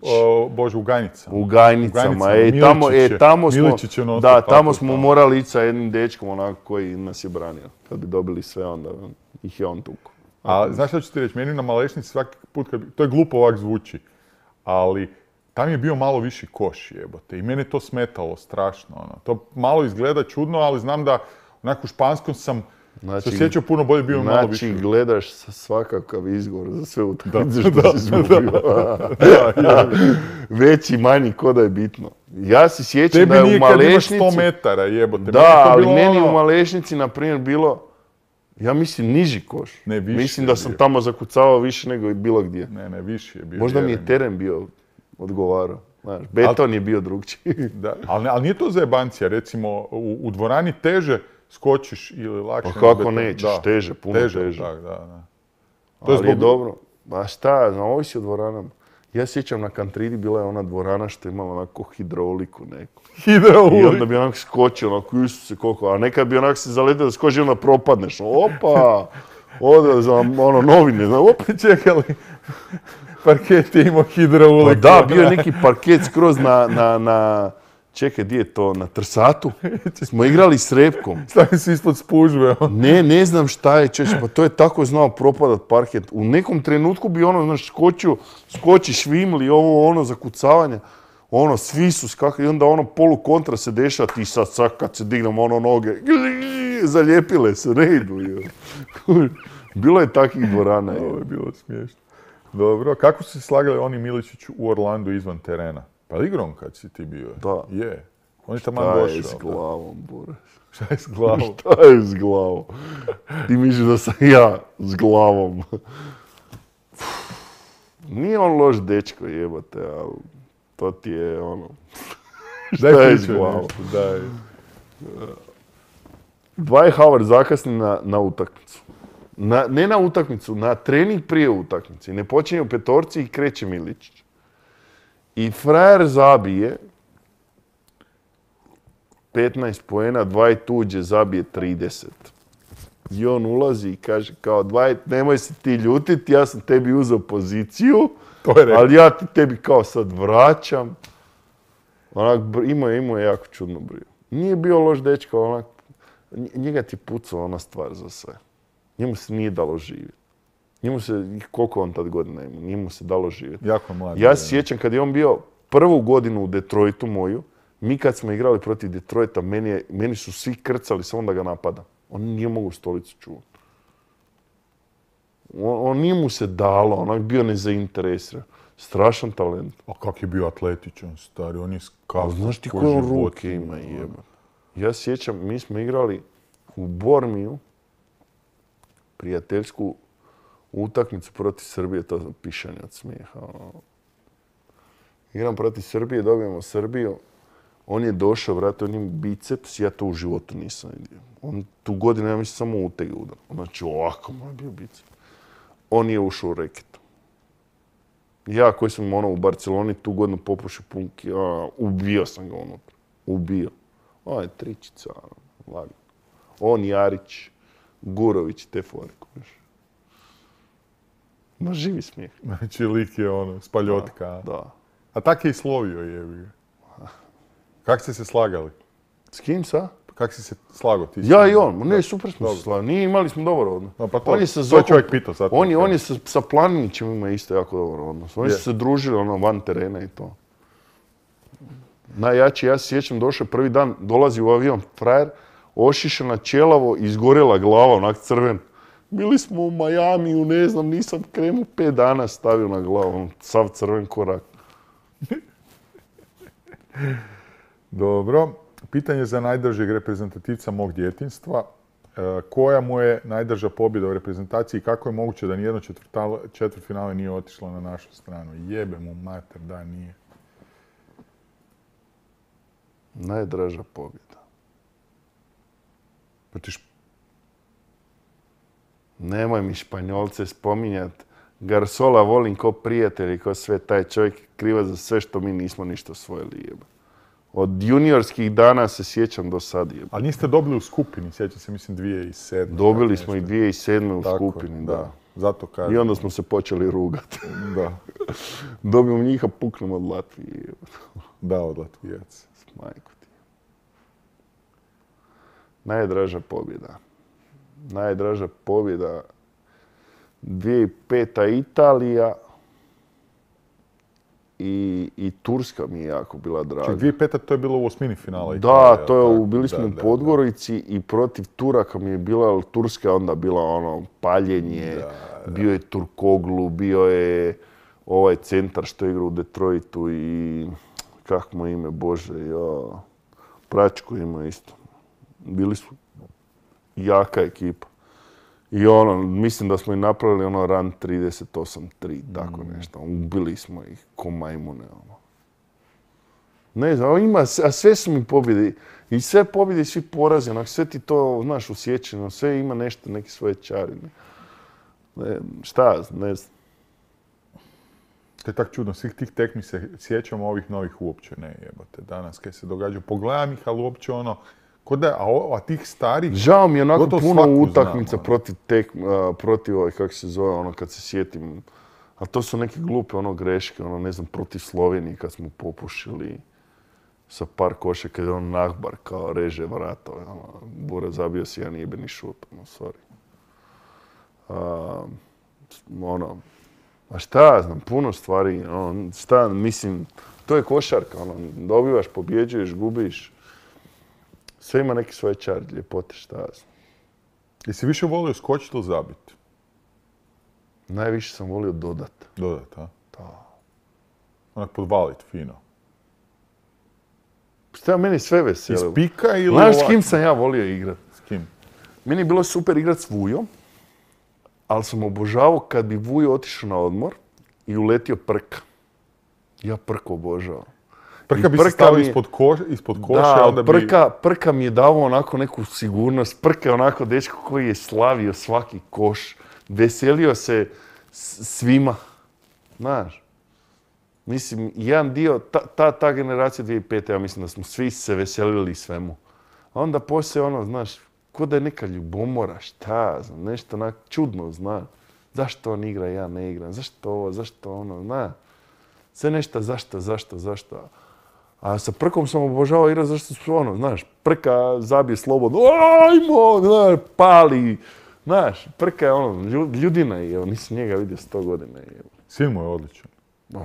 Bože, u Gajnicama.
U Gajnicama. Tamo smo morali ići sa jednim dečkom onako koji nas je branio. Kad bi dobili sve, onda ih je on tuko.
A znaš što ću ti reći? Meni na Malešnici svaki put, to je glupo ovak zvuči, ali tam je bio malo viši koš, jebote. I mene to smetalo strašno. To malo izgleda čudno, ali znam da onako u Španskom sam se osjećao puno bolje, bio malo više.
Znači, gledaš svakakav izgovor za sve utakmice što si izgubio. Veći, manji, ko da je bitno. Ja se sjećam da je u Malešnici...
Tebi nije kad imaš 100 metara, jebote.
Da, ali meni u Malešnici, na primjer, bilo... Ja mislim niži koš.
Ne, viši.
Mislim da sam tamo zakucavao više nego i bilo gdje.
Ne, viši je bio.
Možda mi je teren bio odgovarao. Znaš, beton je bio drugčiji.
Da, ali nije to zajebancija. Recimo, u dvorani teže skočiš ili lakše.
Pa kako nećeš, teže, puno teže.
Da.
Ali je dobro. Ma šta, ovisi o dvoranama. Ja sjećam na Kantridi bila je ona dvorana što je imala onako hidrauliku neku. I onda bi onako skočio, onako Isuse koliko, a nekad bi onako se zaletio da skoči i onda propadneš. Opa! Ode za ono novine, opet.
Čekali, parket je imao hidrouliku.
Pa da, bio je neki parket skroz na čekaj, gdje je to, na Trsatu. Smo igrali s repkom.
Stavim se ispod spužve.
Ne znam šta je, pa to je tako znao propadat parket. U nekom trenutku bi ono, znaš, skoči švimli, ovo, ono, zakucavanje. Ono, svi su skakali i onda ono polu kontra se dešava, ti sad kad se dignemo ono noge, zalijepile se, ne idu. Bilo je takvih dvorana.
Ovo je bilo smiješno. Dobro, kako su se slagali oni Miličić u Orlandu izvan terena? Pa igrom kad si ti bio.
Da.
Je. On je taman došao.
Šta je s glavom, Boris?
Šta je s glavom?
Šta je s glavom? Ti misliš da sam ja s glavom. Nije on loš dečko, jebate, ali to ti je ono... Šta je s glavom?
Daj.
Dwight Howard zakasni na utakmicu. Ne na utakmicu, na trening prije utakmice. Ne počinje u petorci i kreće Miličić. I frajer zabije 15 poena, Dwight uđe, zabije 30. I on ulazi i kaže kao Dwight, nemoj se ti ljutiti, ja sam tebi uzeo poziciju, ali ja ti tebi kao sad vraćam. Onak, imao je jako čudno brio. Nije bio loš dečko, onak, njega ti pucao ona stvar za sve. Njemu se nije dalo živjeti. Njemu se, koliko on tad godina ima, nije mu se dalo živjeti.
Jako mlad.
Ja se sjećam kad je on bio prvu godinu u Detroitu moju, mi kad smo igrali protiv Detroita, meni su svi krcali samo da ga napadam. On nije mogao stolicu čuvati. On nije mu se dalo, onak bio nezainteresiran. Strašan talent.
A kak je bio atletičan, stari, on je skakao.
Znaš ti koje on ruke ima, jeba. Ja sjećam, mi smo igrali u Bormiju, prijateljsku utakmicu protiv Srbije, to je pišanje od smijeha. Igram protiv Srbije, dobijemo Srbiju. On je došao, vrati, on ima biceps, ja to u životu nisam vidio. On tu godinu, ja mislim, samo utege udar. Znači, ovako mu je bio biceps. On je ušao u reketu. Ja koji sam u Barceloni tu godinu popušio punki, ubio sam ga unutra. Ubio. On je tričica, lagano. On, Jarić, Gurović, te fore. Ma živi smijeh.
Znači, lik je ono, spaljotka.
Da.
A tak je i slovio, jebi ga. Kak ste se slagali?
S kim sa?
Kak si se slagao ti?
Ja i on. Ne, super smo se slagali. Nije, imali smo dobar odnos.
No, pa to je čovjek pitao sad.
On je sa Planinićem ima isto jako dobar odnos. Oni su se družili ono van terena i to. Najjači, ja se sjećam, došao prvi dan, dolazi u avion frajer, ošišana ćelavo, izgorjela glava, onak crven. Bili smo u Majamiju, ne znam, nisam kremu 5 dana stavio na glavu, sav crven korak.
Dobro. Pitanje za najdržeg reprezentativca mog djetinjstva. Koja mu je najdrža pobjeda u reprezentaciji i kako je moguće da nijedno četvrtfinale nije otišlo na našu stranu? Jebe mu mater, da nije.
Najdraža pobjeda. Nemoj mi Španjolce spominjat. Garsola volim ko prijatelj i ko sve, taj čovjek kriva za sve što mi nismo ništa osvojili, jeba. Od juniorskih dana se sjećam do sad, jeba.
Ali niste dobili u skupini, sjećam se, mislim, 2007.
Dobili smo i 2007. u skupini, da.
Zato kažem.
I onda smo se počeli rugati.
Da.
Dobijemo njih, a puknemo od Latvije, jeba.
Da, od Latvijaca.
Majko ti. Najdraža pobjeda. Najdraža pobjeda 2005. Italija i Turska mi je jako bila draga.
Ček, 2005. to je bilo u osmini finala
Italija. Da, bili smo u Podgorici i protiv Turaka mi je bila, Turska onda bila ono paljenje, bio je Turkoglu, bio je ovaj centar što igra u Detroitu i kako mu ime, Bože, Pračko ima isto. Bili su jaka ekipa. I mislim da smo i napravili run 38-3, tako nešto. Ubili smo ih ko majmune. Ne znam, a sve su mi pobjede. I sve pobjede i svi porazi, sve ti to, znaš, usjećeno. Sve ima nešto, neki svoje čari. Šta, ne znam.
To je tak čudno, svih tih tekmi se sjećamo, ovih novih uopće ne jebate. Danas kaj se događa, pogledam ih, ali uopće A tih starih...
Žao mi je onako
gotovo
puno
svaku
utakmica
znam,
protiv ovih, kako se zove, ono kad se sjetim. A to su neke glupe greške, ne znam, protiv Slovenije kad smo popušili sa par koša, kad je Nahbar kao reže vrata. Bura zabio si jedan jebeni šut, sorry. A šta ja znam, puno stvari, mislim, to je košarka, dobivaš, pobjeđuješ, gubiš. Sve ima neki svoje čar, ljepote, šta ja znam.
Jesi više volio skočiti ili zabiti?
Najviše sam volio dodat.
Dodat, a?
Da.
Onak podvalit, fino.
Šta meni sve veselo.
Iz pika ili
znaš
ovako?
s kim sam ja volio igrat?
S kim?
Meni je bilo super igrat s Vujom, ali sam obožavao kad bi Vujo otišao na odmor i uletio Prka. Ja Prka obožavao.
Prka bi se stavio ispod koša, onda bi...
Prka mi je davao onako neku sigurnost. Prka je onako dečko koji je slavio svaki koš. Veselio se svima. Znaš. Mislim, jedan dio, ta generacija 2005. ja mislim da smo svi se veselili svemu. A onda poslije znaš, ko da je neka ljubomora, šta, znam, nešto onak čudno, znaš. Zašto on igra, ja ne igram, zašto ovo, zašto ono, znaš. Sve nešto zašto. A sa Prkom sam obožavao igrati zašto su znaš, Prka zabije slobodno, ajmo, znaš, pali. Znaš, Prka je ljudina je, nisam njega vidio 100 godina.
Sin mu je odličan.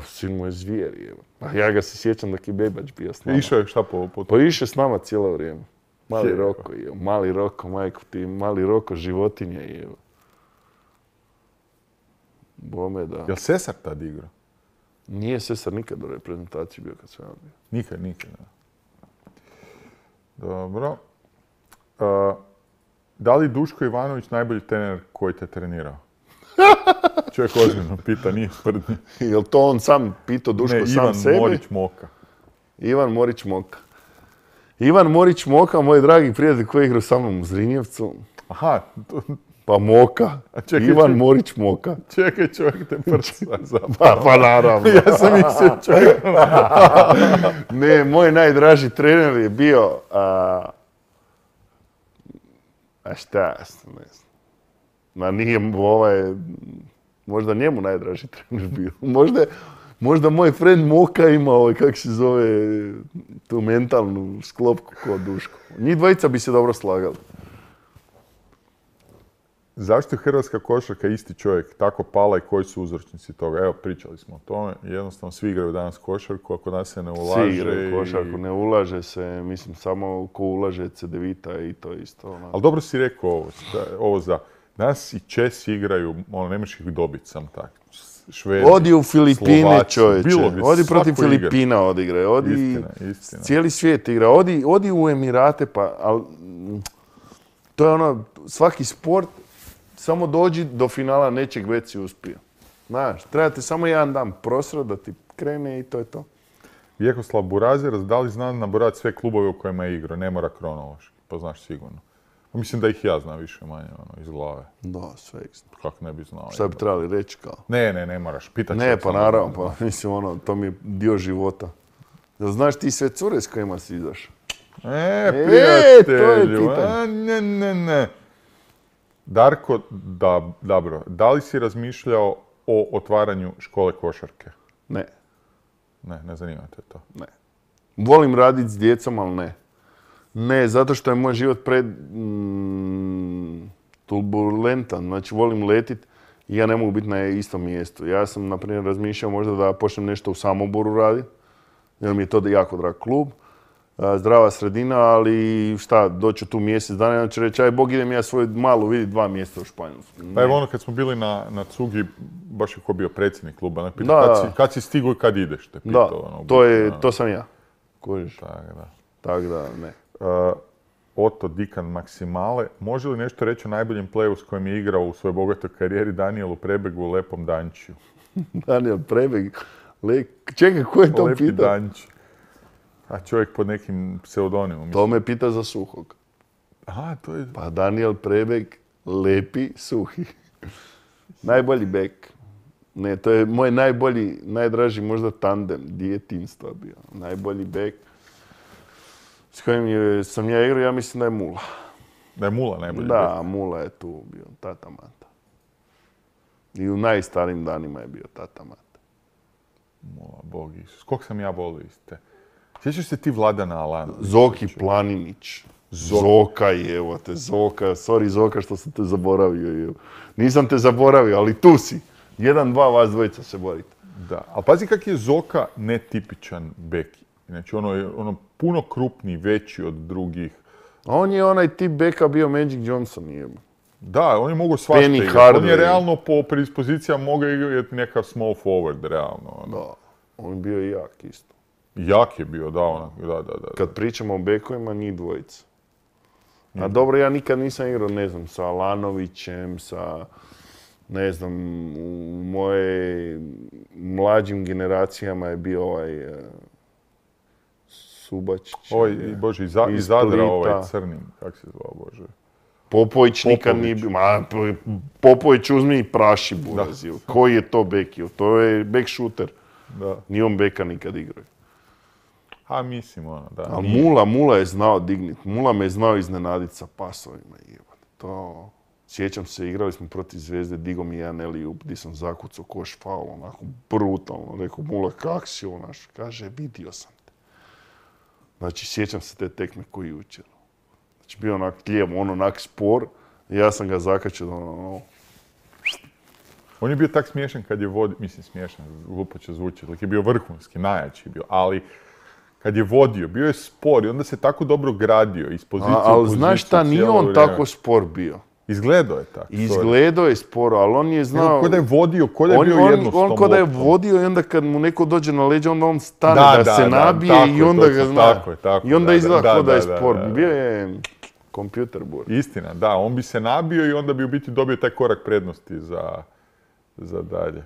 Sin mu je zvijer, a ja ga se sjećam dok je bebač bio s nama.
Išao je šta po...
Pa išao s nama cijelo vrijeme. Mali Roko, majko ti, mali Roko, životinja je. Bome da.
Jel Sesar tad igrao?
Nije Sesar nikad u reprezentaciji bio kad sam ja bio.
Nikad. Dobro. Da li Duško Ivanović najbolji trener koji te trenirao? Čovjek ozbiljno pita, nije sprdnje.
Jel to on sam pitao Duško sam sebi?
Ivan Morić Moka.
Ivan Morić Moka. Ivan Morić Moka, moj dragi prijatelj koji igra sa mnom u Zrinjevcu.
Aha.
Pa Moka. Ivan Morić Moka.
Čekaj, čovjek te prsa
Pa naravno.
Ja sam mislio čovjek.
Ne, moj najdraži trener je bio... A šta ja sam, ne znam. Ma nije možda njemu najdraži trener bio. Možda moj friend Moka ima kako se zove, tu mentalnu sklopku kod Duško. Njih dvojica bi se dobro slagali.
Zašto je hrvatska košarka isti čovjek tako pala i koji su uzročnici toga? Evo, pričali smo o tome. Jednostavno, svi igraju danas košarku, ako nas se ne ulaže...
Svi igraju košarku, ne ulaže se, mislim, samo ko ulaže Cedevita i to isto.
Ali dobro si rekao ovo za... Danas i Česi igraju, ne možeš ih dobiti sam tak. Švedi,
odi u Filipine,
Slovaci,
čovječe. Odi protiv Filipina odigraj.
Istina.
Cijeli svijet igra. Odi u Emirate, ali to je svaki sport, samo dođi do finala nečeg, već si uspio. Znaš, trebate samo jedan dan prosrat da ti krene i to je to.
Vjekoslav Burazer, da li zna nabrojati sve klubove u kojima je igrao? Ne mora kronološki, pa znaš sigurno. Mislim da ih ja znam više manje iz glave.
Da, sve ih znam.
Kako ne bi znao.
Šta bi trebali reći kao?
Ne moraš.
Ne, pa naravno, pa mislim to mi je dio života. Da znaš ti sve cure s kojima si izašao?
Prijatelju,
to je pitanje.
Ne. Darko, dobro, da li si razmišljao o otvaranju škole košarke?
Ne.
Ne zanima te to?
Ne. Volim raditi s djecom, ali ne. Ne, zato što je moj život turbulentan. Znači, volim letit i ja ne mogu biti na istom mjestu. Ja sam, na primjer, razmišljao možda da počnem nešto u Samoboru raditi, jer mi je to jako drag klub. Zdrava sredina, ali šta, doću tu mjesec dana i onda će reći, aj Bog, idem ja svoju malu vidjeti 2 mjeseca u Španjolsku.
Pa evo kad smo bili na Cugi, baš je ko bio predsjednik kluba, kad si stigo i kad ideš, te pitao.
Da, to sam ja. Kužiš?
Tak
da, ne.
Oto Dikan Maksimale, može li nešto reći o najboljem playu s kojim je igrao u svojoj bogatoj karijeri Danijelu Prebegu u Lepom Dančiju?
Danijel Prebeg? Čekaj, ko je to
Lepi
pitao?
Danči. A čovjek pod nekim pseudonimom.
To me pita za Suhog.
Aha, to je...
Pa Danijel Prebeg, Lepi, Suhi. Najbolji bek. Ne, to je moj najbolji, najdraži možda tandem djetinjstva bio. Najbolji bek. s kojim sam ja igrao, ja mislim da je Mula.
Da je Mula najbolji bek.
Da, Mula je tu bio, Tata Mata. I u najstarijim danima je bio Tata Mata.
Mula, Bog Isus. Koliko sam ja volio iste. Sjećaš se ti Vladana Alanovića?
Zoki Planinić. Zoka, evo te, Zoka. Sorry Zoka što sam te zaboravio. Evo. Nisam te zaboravio, ali tu si. 1-2 vas dvojica se borite.
Da, ali pazi kak je Zoka netipičan bek. Znači ono puno krupniji, veći od drugih.
A on je onaj tip beka bio Magic Johnson, jebo.
Da, on je mogao svašta igrati. On je realno po predispozicijama mogao igrati neka small forward, realno.
Da, on je bio i jak isto.
Jak je bio, da, onako, da.
Kad pričamo o bekovima, njih dvojica. A dobro, ja nikad nisam igrao, ne znam, sa Alanovićem, sa, ne znam, u moje mlađim generacijama je bio ovaj Subačić.
Bože, iz Zadra ovaj crni, kak se zvao, Bože.
Popović nikad nije bio. Popović uzmi i praši burazio. Koji je to bek? To je bek šuter.
Da.
Nije on beka nikad igrao.
A mislim, da.
Ali Mula je znao dignit. Mula me je znao iznenaditi sa pasovima. To... Sjećam se, igrali smo protiv Zvezde, digo mi jedan Elijub, gdje sam zakucao koš faul, onako brutalno. Rekao, Mula, kak si ovo naš? Kaže, vidio sam te. Znači, sjećam se te tekme koji jučer. Znači, bio onak lijevo, on onak spor, i ja sam ga zakačio ono...
On je bio tak smiješan kad je vodio, mislim smiješan, glupo će zvučiti, je bio vrhunski, najjači bio, ali kad je vodio, bio je spor i onda se tako dobro gradio iz pozicije u poziciju.
Ali znaš šta, nije on tako spor bio.
Izgledao je tako.
Izgledao je sporo, ali on je znao...
Ko da je vodio, ko da je bio jedno s tom
on ko da je vodio i onda kad mu neko dođe na leđa, onda on stane da se nabije i onda ga zna. I onda izgleda ko da je spor. Bio je kompjuter bur.
Istina, da, on bi se nabio i onda bi u biti dobio taj korak prednosti za dalje.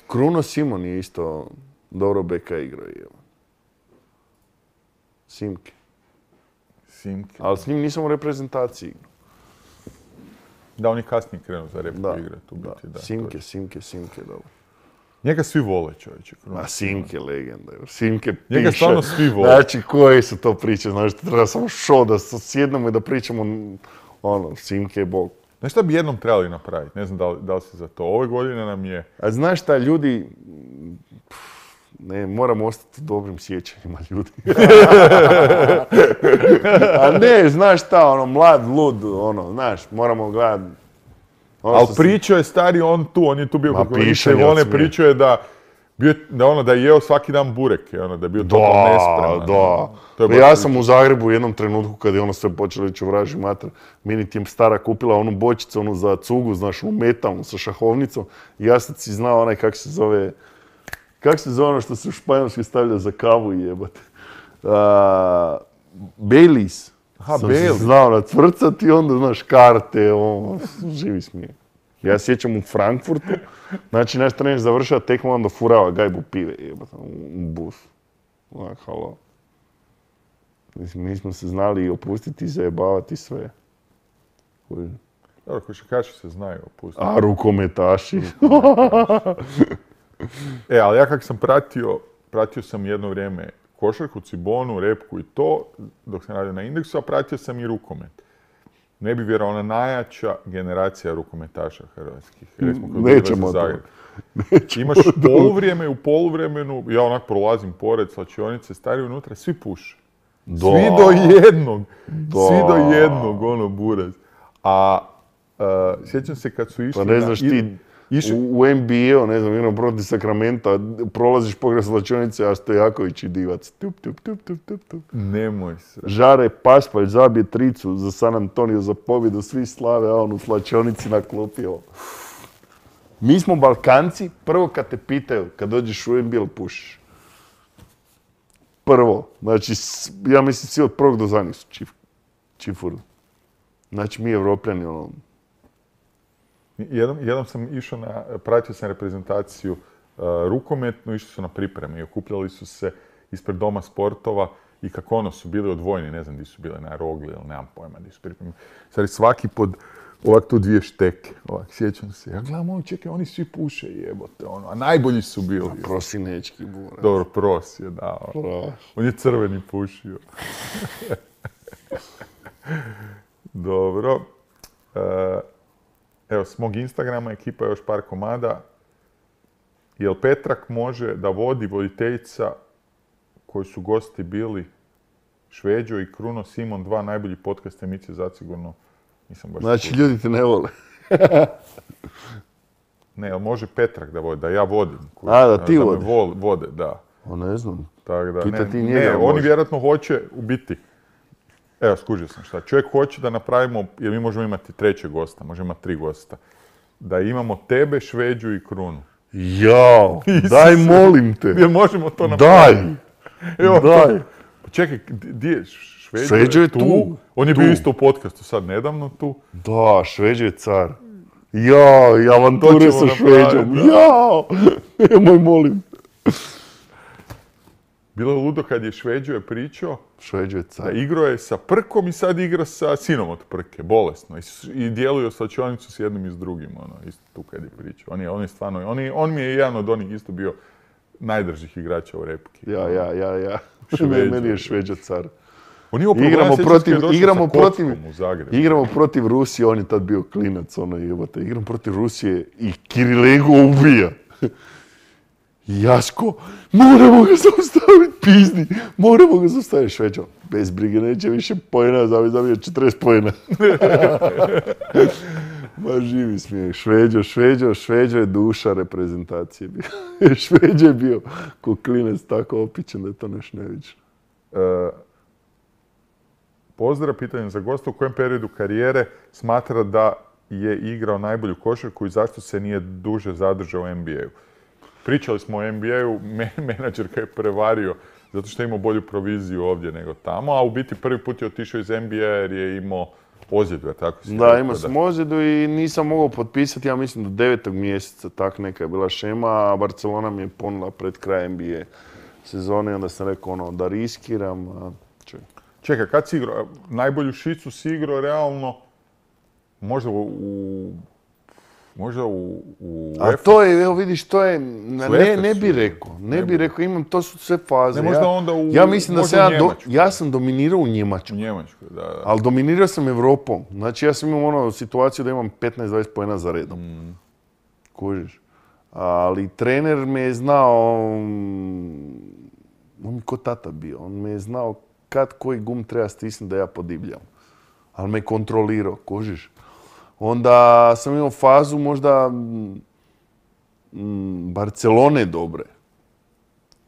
Kruno Simon je isto dobro beka igrao. Simke. Ali s njim nisam u reprezentaciji igrao.
Da, on je kasnije krenuo za repku igrati.
Simke, dobro.
Njega svi vole, čovječe.
Ma, Simke legenda. Simke piše.
Njega stvarno svi vole.
Znači, koje su to priče? Znači, treba samo da sjednemo i da pričamo, Simke je bog.
Znaš šta bi jednom trebali napraviti? Ne znam da li si za to. Ove godine nam je...
A znaš šta, ljudi... Ne, moramo ostati u dobrim sjećanjima ljudi. A ne, znaš šta, mlad, lud, znaš, moramo gledati.
Ali pričao je stari on tu, on je tu bio kako pričao je da je jeo svaki dan bureke, da je bio totalno nespreman.
Da. Ja sam u Zagrebu u jednom trenutku kad je sve počelo ići u vraži mater, meni ti stara kupila onu bočicu, za cugu, znaš, metalnu sa šahovnicom i ja sad si znao onaj kak se zove ono što se u Španjolskoj stavlja za kavu i jebate. Baileys. Sam se znao nacvrcati i onda, znaš, karte, živi smije. Ja sjećam u Frankfurtu, znači naš trener završava tekmu, onda furava gajbu pive, jebate, u bus. Halo. Mi smo se znali opustiti i zajebavati sve.
Dobro, košarkaši se znaju opustiti.
A rukometaši.
Ali ja kak sam pratio sam jedno vrijeme košarku, cibonu, repku i to, dok sam radio na Indeksu, a pratio sam i rukomet. Ne bi vjerovao, ona najjača generacija rukometaša hrvatskih.
Nećemo to.
Imaš poluvrijeme i u poluvremenu, ja onak prolazim pored slačionice, stari unutra, svi puše. Svi do jednog, buraz. A sjećam se kad su išli...
Pa ne znaš ti... U NBA-u, ne znam, jednom protiv Sakramenta, prolaziš pokraj slačionice, a Stojaković i Divac. Tup.
Nemoj se.
Žare Pašpalj zabije tricu za San Antonio za pobjedu, svi slave, a on u slačionici na klupi. Mi smo Balkanci, prvo kad te pitaju, kad dođeš u NBA, pušiš. Prvo. Znači, ja mislim, svi od prvog do zadnjeg su čifuri. Znači, mi Evropljani,
Jednom sam išao pratio sam reprezentaciju rukometnu, išli su na pripreme i okupljali su se ispred Doma sportova i kako su bili odvojeni, ne znam di su bile, na Rogli ili nemam pojma di su pripreme. Stari, svaki pod ovak tu 2 šteke, sjećam se. Ja gledam, čekaj, oni svi puše, jebote, a najbolji su bili.
Prosinečki bura.
Dobro, Pros je dao. On je crveni pušio. Dobro. Evo, s mog Instagrama ekipa još par komada. Jel Petrak može da vodi voditeljica koji su gosti bili Šveđo i Kruno Simon, 2 najbolji podcast emisije zasigurno. Nisam baš
Znači, ljudi te ne vole.
Ne, jel može Petrak da vodi, da ja vodim.
Da ti
da
vodi.
me vode, da.
Ne znam.
Tak da,
Pita ti
ne,
njega,
oni
može.
vjerojatno hoće u biti. Evo, skužio sam šta. Čovjek hoće da napravimo, jer mi možemo imati 3. gosta, možemo imati 3 gosta. Da imamo tebe, Šveđu i Krunu.
Jao, daj molim te.
Jer možemo to
Daj,
napraviti. Evo,
daj.
Pa čekaj, gdje je Šveđu?
Šveđo je tu.
On je
Tu.
bio isto u podcastu sad nedavno tu.
Da, Šveđo je car. Jao, i
To
avanture
ćemo
sa Šveđom.
napraviti, da.
Jao, nemoj molim.
Bilo je ludo kad je Šveđo je pričao
Šveđo je
da
car.
igrao je sa Prkom i sad igra sa sinom od Prke, bolesno. I djeluje slačionicu s jednim i s drugim, isto tu kad je pričao. On je stvarno, on mi je jedan od onih isto bio najdržih igrača u repki.
Ja.
Šveđo.
Meni je Šveđo car.
On je imao problema,
Igramo
sjećam se kad
protiv,
je došao
igramo
sa
protiv,
kockom u Zagrebu.
igramo protiv Rusije, on je tad bio klinac, jebote. Igramo protiv Rusije i Kirilenko ubija. Jaško, moramo ga zaustaviti, pizdi, moramo ga zaustaviti, Šveđo. Bez brige, neće više pojena, zabio 40 pojena. Ma živi smijeh, Šveđo je duša reprezentacije bio. Šveđo je bio ko klinac tako opičen da je to nešto neviđeno.
Pozdrav, pitanje za gosta. U kojem periodu karijere smatra da je igrao najbolju košarku i zašto se nije duže zadržao u NBA-u? Pričali smo o NBA-u, menadžer ga je prevario zato što je imao bolju proviziju ovdje nego tamo, a u biti prvi put je otišao iz NBA jer je imao ozljedu, tako si
Da,
rekao,
imao sam ozljedu i nisam mogao potpisati, ja mislim do 9. mjeseca, tak neka je bila šema, a Barcelona mi je ponula pred kraj NBA sezone, onda sam rekao da riskiram,
Čekaj, kad si igrao? Najbolju šicu si igrao realno možda u
A to je, evo vidiš, to je, ne bi rekao, imam, to su sve faze.
Ne, možda onda
ja mislim da
možda
sam ja sam dominirao u Njemačkoj.
U Njemačkoj, da.
Ali dominirao sam Evropom. Znači ja sam imao situaciju da imam 15-20 poena za redom. Kužiš. Ali trener me je znao, on mi ko tata bio, on me je znao kad koji gum treba stisnuti da ja podivljam. Ali me kontrolirao, kužiš. Onda sam imao fazu možda Barcelone dobre.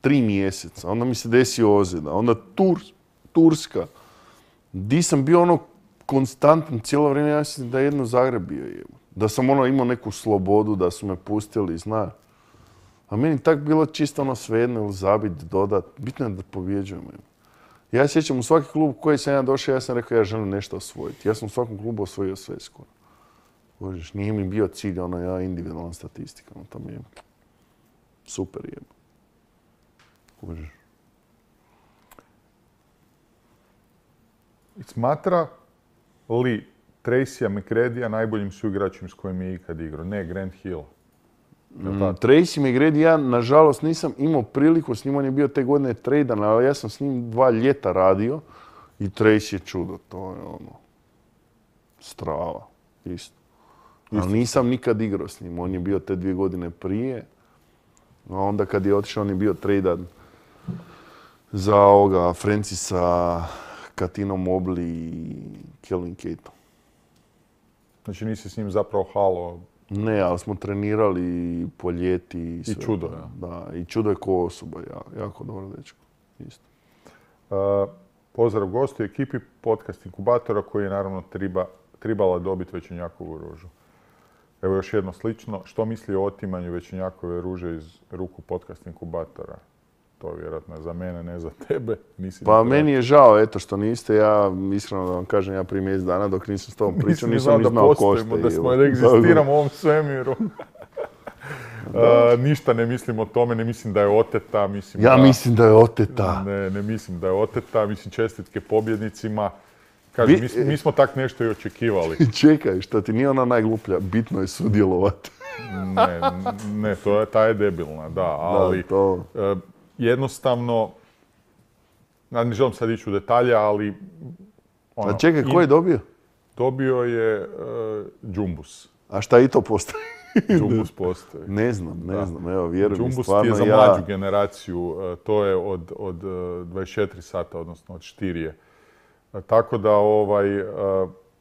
3 mjeseca. Onda mi se desio ozljeda. Onda Turska. Di sam bio konstantan cijelo vrijeme. Ja mislim da je jedno Zagreb bio. Da sam imao neku slobodu, da su me pustili, znaš. A meni tak bilo čisto svejedno ili zabit, dodat. Bitno je da pobjeđujemo. Ja sjećam u svaki klub u koji sam ja došao, ja sam rekao ja želim nešto osvojiti. Ja sam u svakom klubu osvojio sve skoro. Božiš, nije mi bio cilj, individualna statistika, to mi je super jebo. Božiš.
Smatra li Tracyja McGradyja najboljim suigračem s kojim je ikad igrao? Ne, Grant Hill.
Tracy McGrady, ja nažalost nisam imao priliku, s njim on je bio te godine tradan, ali ja sam s njim 2 ljeta radio i Tracy je čudo, to je strava, isto. Ali nisam nikad igrao s njim, on je bio te 2 godine prije, a onda kad je otišao on je bio tradan za Francisa, Katino Mobley i Kelvin Caton.
Znači nisi s njim zapravo halo?
Ne, ali smo trenirali po ljeti i sve.
I čudo, ja.
Da, i čudo je ko osoba, jako dobro dečko, isto.
Pozdrav gostu i ekipi podcast inkubatora koji je naravno tribala dobiti Večernjakovu ružu. Evo još jedno slično. Što misli o otimanju Večernjakove ruže iz ruku podcast inkubatora? To je vjerojatno za mene, ne za tebe.
Pa meni je žao, eto, što niste. Ja, iskreno da vam kažem, ja prije mjesec dana dok nisam s tobom pričao, nisam ni znao ko ste.
Da smo da egzistiramo u ovom svemiru. Ništa ne mislim o tome, ne mislim da je oteta. Mislim
da je oteta.
Ne mislim da je oteta. Mislim, čestitke pobjednicima. Kažem, mi smo tak nešto i očekivali.
Čekaj, šta ti nije ona najgluplja, bitno je sudjelovati.
Ne, ta je debilna, da, ali jednostavno, ne želim sad ići u detalje, ali
A čekaj, ko je dobio?
Dobio je Džumbus.
A šta i to postoji?
Džumbus postoji.
Ne znam, evo, vjerujem mi,
Džumbus
stvarno
ti je za mlađu generaciju, to je od 24 sata, odnosno od štirije. Tako da,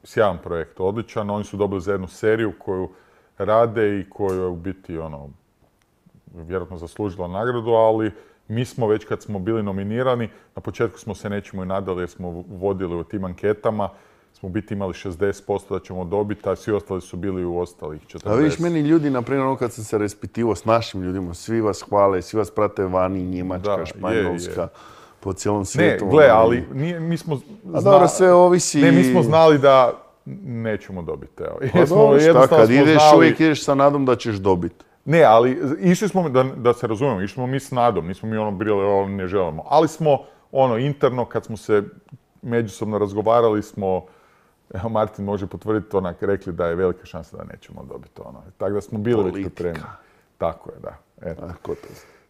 sjajan projekt, odličan. Oni su dobili za jednu seriju koju rade i koju je u biti, vjerojatno zaslužila nagradu, ali mi smo već kad smo bili nominirani, na početku smo se nečemu i nadali jer smo vodili u tim anketama, smo u biti imali 60% da ćemo dobiti, a svi ostali su bili u ostalih 40%.
A vidiš, meni ljudi, na primjer, kad sam se raspitivao s našim ljudima, svi vas hvale, svi vas prate vani, Njemačka, Španjolska, po cijelom svijetu.
Ne, gle, ali mi smo
dobro, sve ovisi...
Ne, mi smo znali da nećemo dobiti.
Pa dobro, šta, kad ideš, uvijek ideš sa nadom da ćeš dobiti.
Ne, ali išli smo, da se razumijemo, išli smo mi s nadom, nismo mi bili, ne želimo. Ali smo, interno, kad smo se međusobno razgovarali smo, evo Martin može potvrditi, rekli da je velika šansa da nećemo dobiti Tako da smo bili već pripremljeni. Tako je, da.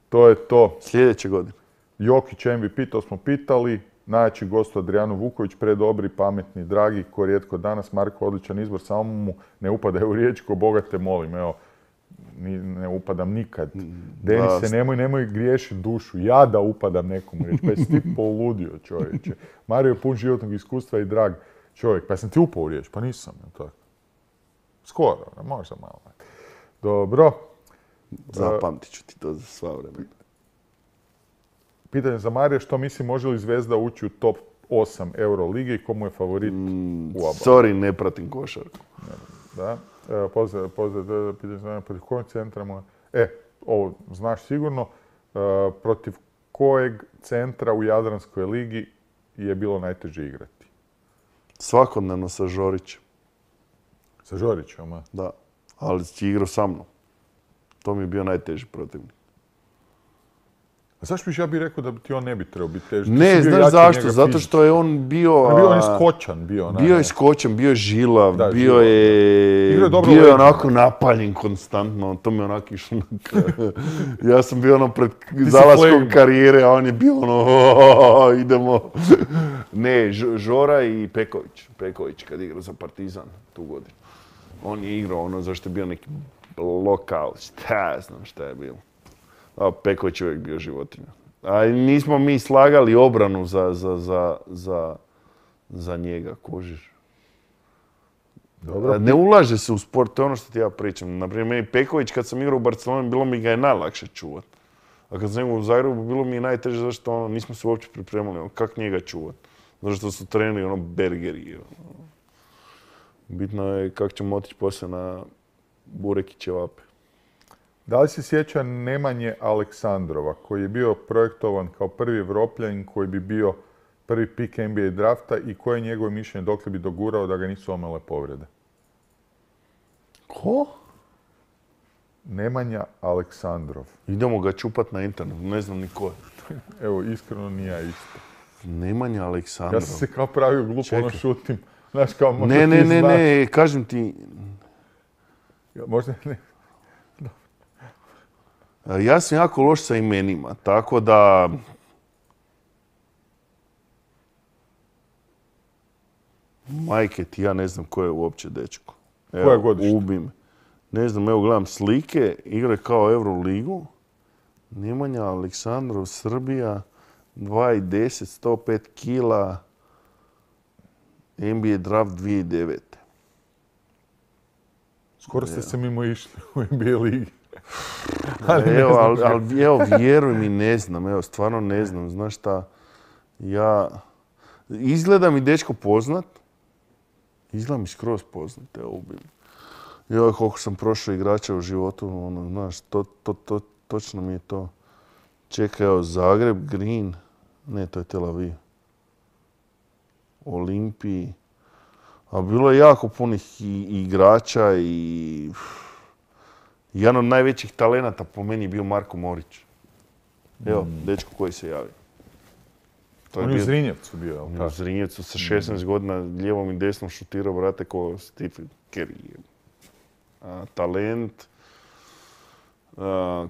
To je to.
Sljedeće godine.
Jokić MVP, to smo pitali. Najjači gost Adrijano Vuković, predobri, pametni, dragi, ko rijetko danas. Marko, odličan izbor, samo mu ne upadaj u riječ, ko Boga te molim. Evo, ne upadam nikad. Denise, nemoj griješiti dušu. Ja da upadam nekom u riječ. Pa jesi ti poludio, čovječe. Mario je pun životnog iskustva i drag čovjek. Pa sam ti upao u riječ? Pa nisam. Tako. Skoro, možda malo. Dobro.
Zapamtit ću ti to za sva vremena.
Pitanje za Marija, što misli, može li Zvezda ući u top 8 Euroligi i komu je favorit u ABA?
Sorry, ne pratim košarku.
Da. Pozdrav, pitanje za Marija, protiv kojeg centra mu ovo znaš sigurno. Protiv kojeg centra u Jadranskoj ligi je bilo najteže igrati?
Svakodnevno sa Žorićem.
Sa Žorićem, a?
Da, ali si igrao sa mnom. To mi je bio najteži protivnik.
A zašto ja bih rekao da ti on ne bi trebao biti teži?
Ne, znaš zašto? Zato što je on bio...
Bio je skočan.
Bio je skočan, bio je žilav, bio je onako napaljen konstantno. To mi onako išlo. Ja sam bio pred zalaskom karijere, a on je bio idemo. Ne, Žora i Peković. Peković kad igrao za Partizan tu godinu. On je igrao zašto je bio neki lokal, znam šta je bilo. A Peković je uvijek bio životinja. A nismo mi slagali obranu za njega, kužiš.
Dobro.
Ne ulaže se u sport, to je ono što ti ja pričam. Naprimjer, meni Peković kad sam igrao u Barceloni, bilo mi ga je najlakše čuvat. A kad sam igrao u Zagrebu, bilo mi je najteže zašto nismo se uopće pripremali. Kako njega čuvat? Zato što su trenili bergeri. Bitno je kako ćemo otići poslije na burek i ćevape.
Da li se sjeća Nemanje Aleksandrova, koji je bio projektovan kao prvi Evropljanin koji bi bio prvi pik NBA drafta i koje je njegovo mišljenje dokle bi dogurao da ga nisu omele povrede?
Ko?
Nemanja Aleksandrov.
Idemo ga čupat na internetu, ne znam ni ko je.
Evo, iskreno ni ja isto.
Nemanja Aleksandrov.
Ja sam se kao pravio glupo, šutim. Znaš, kao možda ti znaš.
Ne, kažem ti...
Možda ne.
Ja sam jako loš sa imenima, tako da... Majke ti, ja ne znam ko je uopće dečko.
Koje godište?
Ubim. Ne znam, evo gledam slike, igre kao Euroligu. Nemanja Aleksandrov, Srbija, 2,10, 105 kila, NBA draft 2009.
Skoro ste se mimo išli u NBA ligi.
Evo, vjeruj mi, ne znam, evo, stvarno ne znam, znaš šta, izgleda mi dečko poznat, izgleda mi skroz poznat, evo, ubim. Evo, koliko sam prošao igrača u životu, znaš, točno mi je to. Čekaj, evo, Zagreb, Green, ne, to je Tel Aviv, Olimpiji, a bilo je jako punih igrača i... Jedan od najvećih talenata po meni je bio Marko Morić. Evo, dečko koji se javio.
On je u Zrinjevcu bio, jel' tako?
U Zrinjevcu sa 16 godina lijevom i desnom šutirao, brate, ko Stephen Curry. Talent.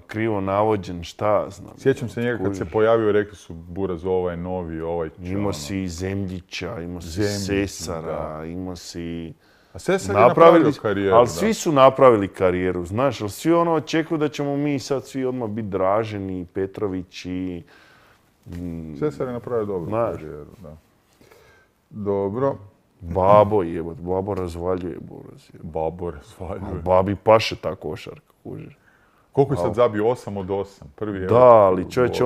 krivo navođen, šta znam.
Sjećam se njega kad se pojavio, rekli su Buraz, ovaj novi, ovaj će
Imao si Zemljića, imao si Sesara, imao si...
A Sesar je napravio karijeru.
Ali svi su napravili karijeru, znaš, ali svi ono očekuju da ćemo mi sad svi odmah biti Draženi, Petrovići.
Sesar je napravio dobru karijeru, da. Dobro.
Babo razvaljuje Buraz.
Babo razvaljuje.
Babi paše ta košarka, kužiš.
Koliko je sad zabio? 8 od 8. Prvi je...
Da, ali čovječe,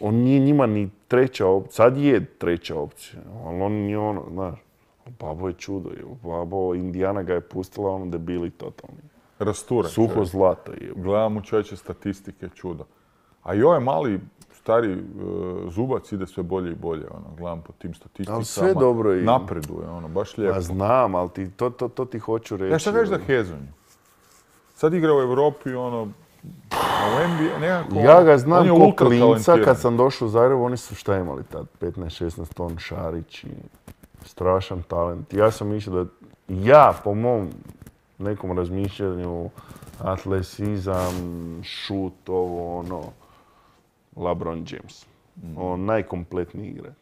on nije njima ni treća opcija. Sad je treća opcija, ali on nije ono, znaš. Babo je čudo, Babo, Indijana ga je pustila, ono debili totalni.
Rasturan.
Suho zlato je.
Gledam u čovječe statistike, čudo. A i ovaj mali, stari Zubac ide sve bolje i bolje, ono, gledam po tim statistikama.
Ali sve dobro i...
Napreduje, ono, baš lijepo.
A znam, ali to ti hoću reći.
Ja šta kažeš za Hezonju? Sad igra u Europi, ono, a u NBA nekako...
Ja ga znam ko klinca, kad sam došao u Zagreb, oni su šta imali tad? 15-16 ton Šarić i strašan talent. Ja sam mislio da ja, po mom nekom razmišljanju, atletizam, šut, ovo, ono, LeBron James. On najkompletniji igrač.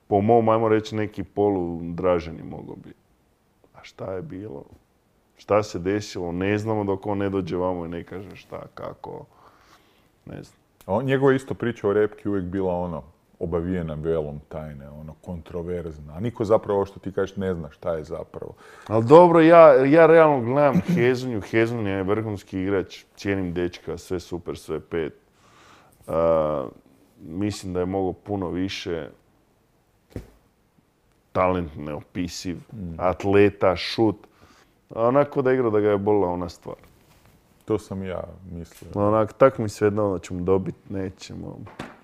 Po mom, ajmo reći, neki polu Draženi mogao biti. A šta je bilo? Šta se desilo? Ne znamo dok on ne dođe vamo i ne kaže šta, kako, ne znam.
Njegova isto priča o Repki uvijek bila ono, obavijena velom tajne, ono, kontroverzna. A niko zapravo, ovo što ti kažeš, ne zna šta je zapravo.
Ali dobro, ja realno gledam Hezonju. Hezonja je vrhunski igrač, cijenim dečka, sve super, sve pet. Mislim da je mogao puno više. Talent neopisiv, atleta, šut. Onako da igra da ga je bolila ona stvar.
To sam ja mislio.
Onako, tak mi svejedno da ćemo dobiti, nećemo.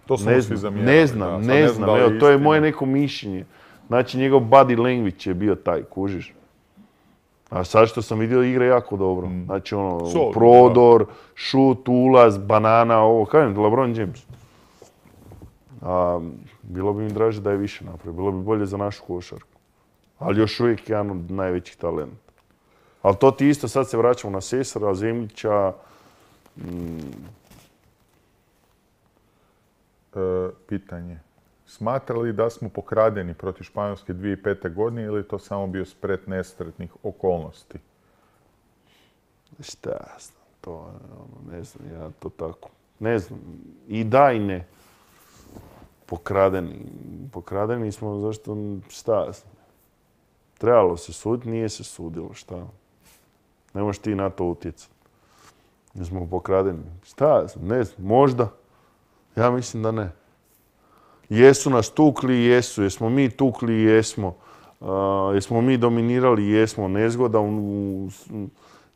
To smo svi zamijenili.
Ne znam. Evo, to je moje neko mišljenje. Znači, njegov body language je bio taj, kužiš. A sad što sam vidio, igra jako dobro. Znači, ono, prodor, šut, ulaz, banana, ovo, kažem, LeBron James. Bilo bi mi draže da je više napravio. Bilo bi bolje za našu košarku. Ali još uvijek je jedan od najvećih talenta. Ali to ti isto, sad se vraćamo na Sesara, Zemljića.
Pitanje. Smatra li da smo pokradeni protiv Španjolske 2005. godine ili je to samo bio splet nesretnih okolnosti?
Šta ja znam, to je ono, ne znam, ja to tako. Ne znam, i da i ne. Pokradeni smo, zašto, šta ja znam. Trebalo se suditi, nije se sudilo, šta. Ne možeš ti na to utjecati. Mi smo pokradeni. Šta ja znam, ne znam, možda. Ja mislim da ne. Jesu nas tukli, jesu. Jesmo mi tukli, jesmo. Jesmo mi dominirali, jesmo. Nezgoda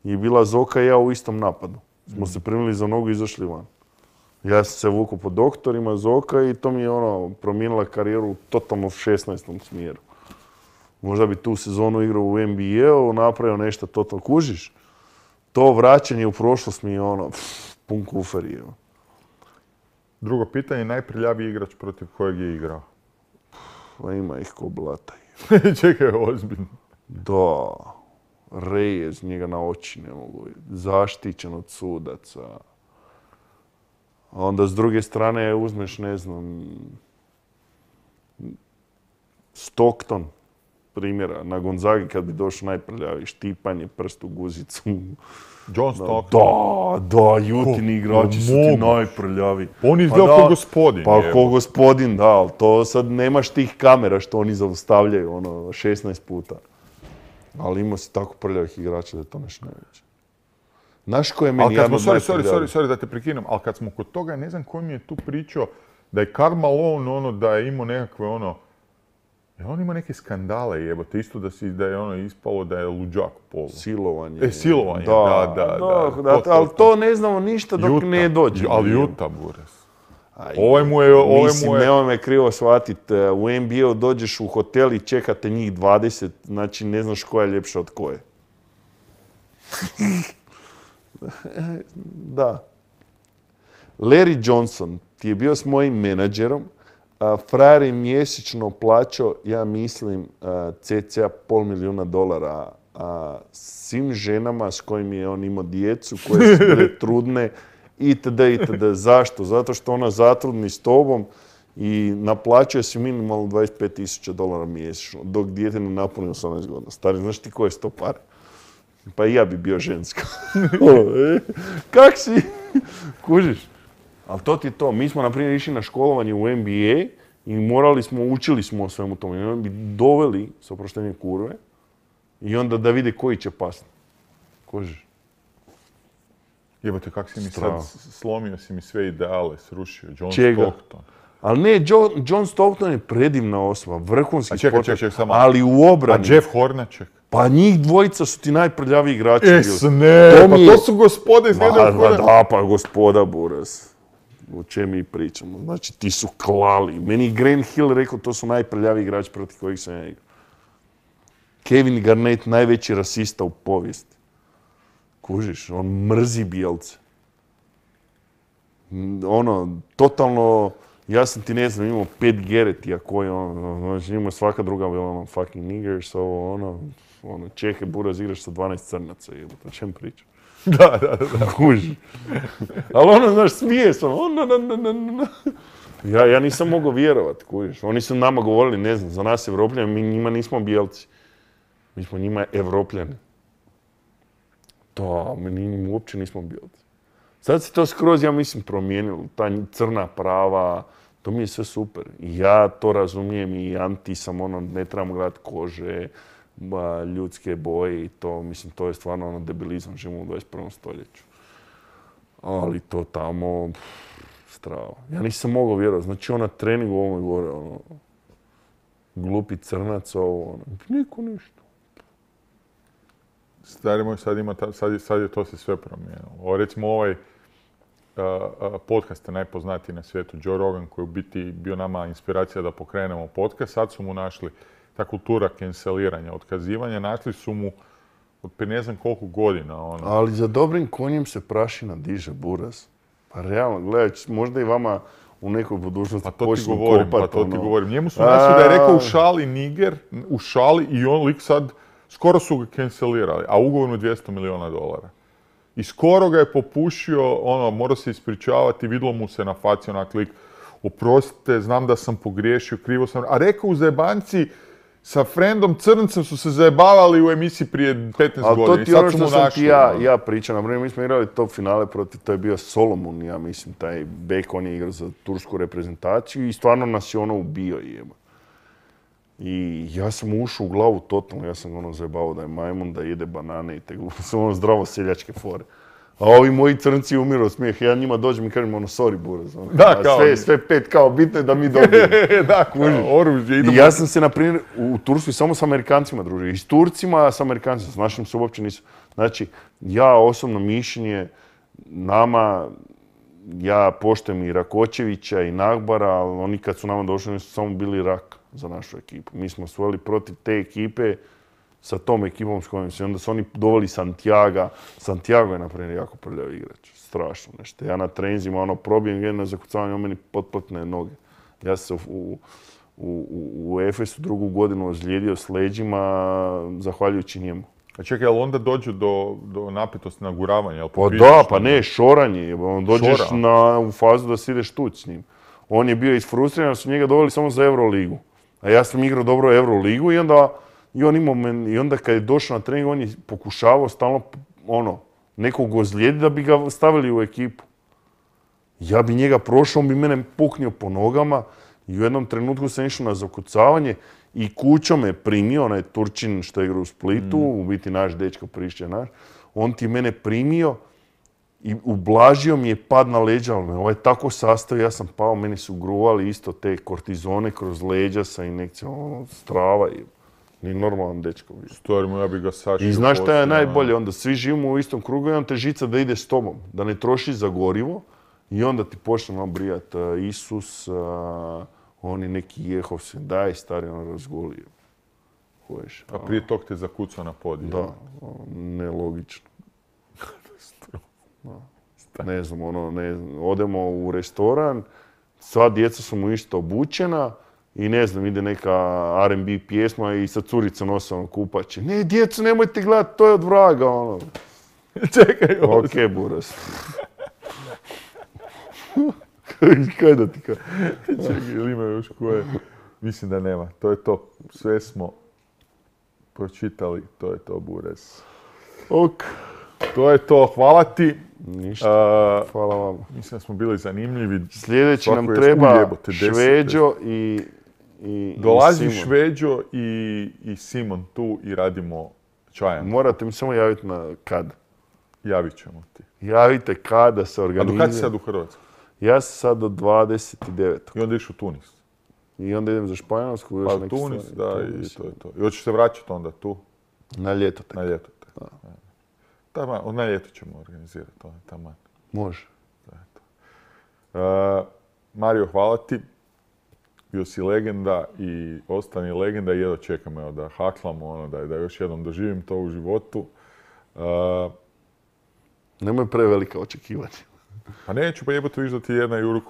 je bila Zoka i ja u istom napadu. Smo se primili za nogu i izašli van. Ja sam se vukao po doktorima Zoka i to mi je ono promijenila karijeru u totalno 16. smjeru. Možda bi tu sezonu igrao u NBA-u, napravio nešto totalno. Kužiš? To vraćanje u prošlost mi je ono, pun kufer je.
Drugo pitanje, najprljaviji igrač protiv kojeg je igrao?
Pa ima ih ko blata.
Čekaj, ozbiljno.
Da. Reyes, njega na oči ne mogu. Zaštićen od sudaca. A onda s druge strane uzmeš, ne znam, Stockton, primjera, na Gonzagi kad bi došao najprljaviji, štipanje, prst u guzicu.
John Stockton.
Da, jutini igrači su ti najprljaviji.
On izgleda kao gospodin.
Pa kao gospodin, da, ali to sad nemaš tih kamera što oni zaustavljaju, ono, 16 puta. Ali imao si tako prljavih igrača da je to nešto najveće. Znaš ko je meni jedan od najprljavijih?
Sorry da te prekinem, ali kad smo kod toga, ne znam ko mi je tu pričao da je Karl Malone, ono, da je imao nekakve, ono, on ima neke skandale, jebote, isto da je ono ispalo da je luđak polu.
Silovanje.
Silovanje, da.
Ali to ne znamo ništa dok ne dođe.
Ali Juta, Buras.
Mislim, nemoj me krivo shvatiti. U NBA-u dođeš u hotel i čekate njih 20, znači ne znaš koja je ljepša od koje. Da. Larry Johnson ti je bio s mojim menadžerom. Frajer je mjesečno plaćao, ja mislim, cca $500,000 svim ženama s kojim je on imao djecu, koje su bile trudne, itd. Zašto? Zato što ona zatrudni s tobom i naplaćuje se minimalno $25,000 mjesečno, dok dijete ne napuni 18 godina. Stari, znaš ti koje su to pare? Pa i ja bi bio ženska. Kak si? Kužiš? Ali to ti je to. Mi smo, na primjer, išli na školovanje u MBA i učili smo o svemu tome. I onda bi doveli, s oproštenjem kurve, i onda da vide koji će pasti. Kužiš?
Jebote, kak si mi sad slomio si mi sve ideale, srušio. John
Čega?
Stockton.
Ali ne, John Stockton je predivna osoba, vrhunski sportaš,
samo.
ali u obrani.
A Jeff Hornacek?
Pa njih dvojica su ti najprljaviji igrači.
To su gospode iz jednog koda.
Da, pa gospoda Buras. O čem mi pričamo? Znači, ti su klali. Meni Grant Hill rekao, to su najprljaviji igrači protiv kojih sam ja igrao. Kevin Garnett, najveći rasista u povijesti. Kužiš, on mrzi bijelce. Totalno, ja sam ti ne znam, imao 5 Geretija koji znači imao svaka druga bila fucking niggers, Čehe Buraz igraš sa 12 crnaca, o čem pričam?
Da.
Kužiš. Ali znaš, smije sam, Ja nisam mogao vjerovat, kužiš. Oni su nama govorili, ne znam, za nas Evropljani, mi njima nismo bijelci. Mi smo njima Evropljani. Mi uopće nismo bijelci. Sad se to skroz, ja mislim, promijenilo. Ta crna prava, to mi je sve super. I ja to razumijem i anti sam, ne trebamo gledati kože, ljudske boje i to, mislim, to je stvarno debilizam, živimo u 21. stoljeću. Ali to tamo, strava. Ja nisam mogao vjerovati. Znači, na treningu ovome gore, glupi crnac, niko ništa.
Stari moj, sad je to se sve promijenilo. Recimo ovaj podcast je najpoznatiji na svijetu, Joe Rogan, koji je u biti bio nama inspiracija da pokrenemo podcast. Sad su mu našli ta kultura canceliranja, otkazivanja, našli su mu od ne znam koliko godina.
Ali za dobrim konjem se prašina diže, Buraz. Pa realno, gledaj, možda i vama u nekoj budućnosti počnu kopati.
Pa to ti govorim. Njemu su našli da je rekao u šali niger, u šali i on lik sad, skoro su ga cancelirali, a ugovor mu $200 milijuna. I skoro ga je popušio, morao se ispričavati, vidjelo mu se na faci onak lik, oprostite, znam da sam pogriješio, krivo sam, a rekao u zajebanci, sa friendom Crncem su se zajebavali u emisiji prije 15 godina.
Ali to ti ono što sam ti ja pričam. Naprimjer, mi smo igrali top finale protiv, to je bio Solomon, ja mislim, taj bek, on je igrao za tursku reprezentaciju i stvarno nas je ubio jeba. I ja sam ušao u glavu totalno, ja sam zajebavao da je majmun, da jede banane i te su zdravo seljačke fore. A ovi moji crnci umiru od smijeha, ja njima dođem i kažem sorry Buraz.
Da, kao.
Sve 5 kao, bitno je da mi dobijemo.
Da, kao, oružje, idemo.
I ja sam se, na primjer, u Turskoj samo s Amerikancima družio. I s Turcima, s Amerikancima, s našim se uopće nisu. Znači, ja osobno mišljenje, ja poštujem i Rakočevića i Nagbara, ali oni kad su nama došli, oni su samo bili rak za našu ekipu. Mi smo svojili protiv te ekipe, sa tom ekipom s kojom se, onda su oni doveli Santiaga. Santiago je, na primjer, jako prljavi igrač. Strašno nešto. Ja na treninzima, probijem jedno zakucavanje, on meni potplatne noge. Ja sam se u Efesu 2. godinu ozlijedio s leđima, zahvaljujući njemu.
A čekaj, ali onda dođe do napetosti naguravanja?
Pa da, pa ne, šoranje. Dođeš u fazu da si ideš tuć s njim. On je bio isfrustriran, da su njega doveli samo za Euroligu. A ja sam igrao dobro Euroligu i onda kad je došao na trening, on je pokušavao stalno nekog ozlijediti da bi ga stavili u ekipu. Ja bi njega prošao, on bi mene puknio po nogama i u jednom trenutku sam išao na zakucavanje i Kućo me primio, onaj Turčin što je igrao u Splitu, u biti naš dečko Prišće naš, on ti mene primio i ublažio mi je pad na leđa, ali me ovaj tako sastavio, ja sam pao, meni su gruvali isto te kortizone kroz leđa sa injekcijom, strava i nije normalan dečko.
Stvarno, ja bi ga sašio.
I znaš šta je najbolje, onda svi živimo u istom krugu i onda te žica da ide s tobom, da ne trošiš za gorivo i onda ti počne brijat Isus, oni neki Jehovsi, daj stari, razgolio.
A prije tog te zakucao na podiju.
Da, nelogično. Ne znam, odemo u restoran, sva djeca su mu isto obučena, i ne znam, ide neka R&B pjesma i sa curica nose ono kupače. Ne, djecu, nemojte gledati, to je od vraga, ono.
Čekaj, ovo.
Okej, buras. Kaj da ti kaj?
Čekaj, ili ima još koje? Mislim da nema. To je to. Sve smo pročitali. To je to, Buras.
Ok.
To je to. Hvala ti.
Ništa. Hvala vam.
Mislim da smo bili zanimljivi.
Sljedeći nam
Svako je
treba
ujebote, 10.
Šveđo i
Dolazi
i Simon.
Šveđo i Simon tu i radimo čajan.
Morate mi samo javiti na kad.
Javit ćemo ti.
Javite kada se
A
organizira.
do kad si sad u Hrvatskoj?
Ja sam sad do 29.
I onda ideš u Tunis.
I onda idem za Španjolsku. Još
Pa
neke
Tunis,
stvari.
da,
Tunis,
i to je to. I hoćeš se vraćati onda tu,
Na ljeto tek.
na ljeto. Na ljeto ćemo organizirati to, taman.
Može.
Mario, hvala ti. Bio si legenda i ostani legenda i jedno čekam evo, da haklamo, ono, da još jednom doživim to u životu.
Nemoj prevelika očekivanja.
Pa neću, pa jebote viš da ti jedna juru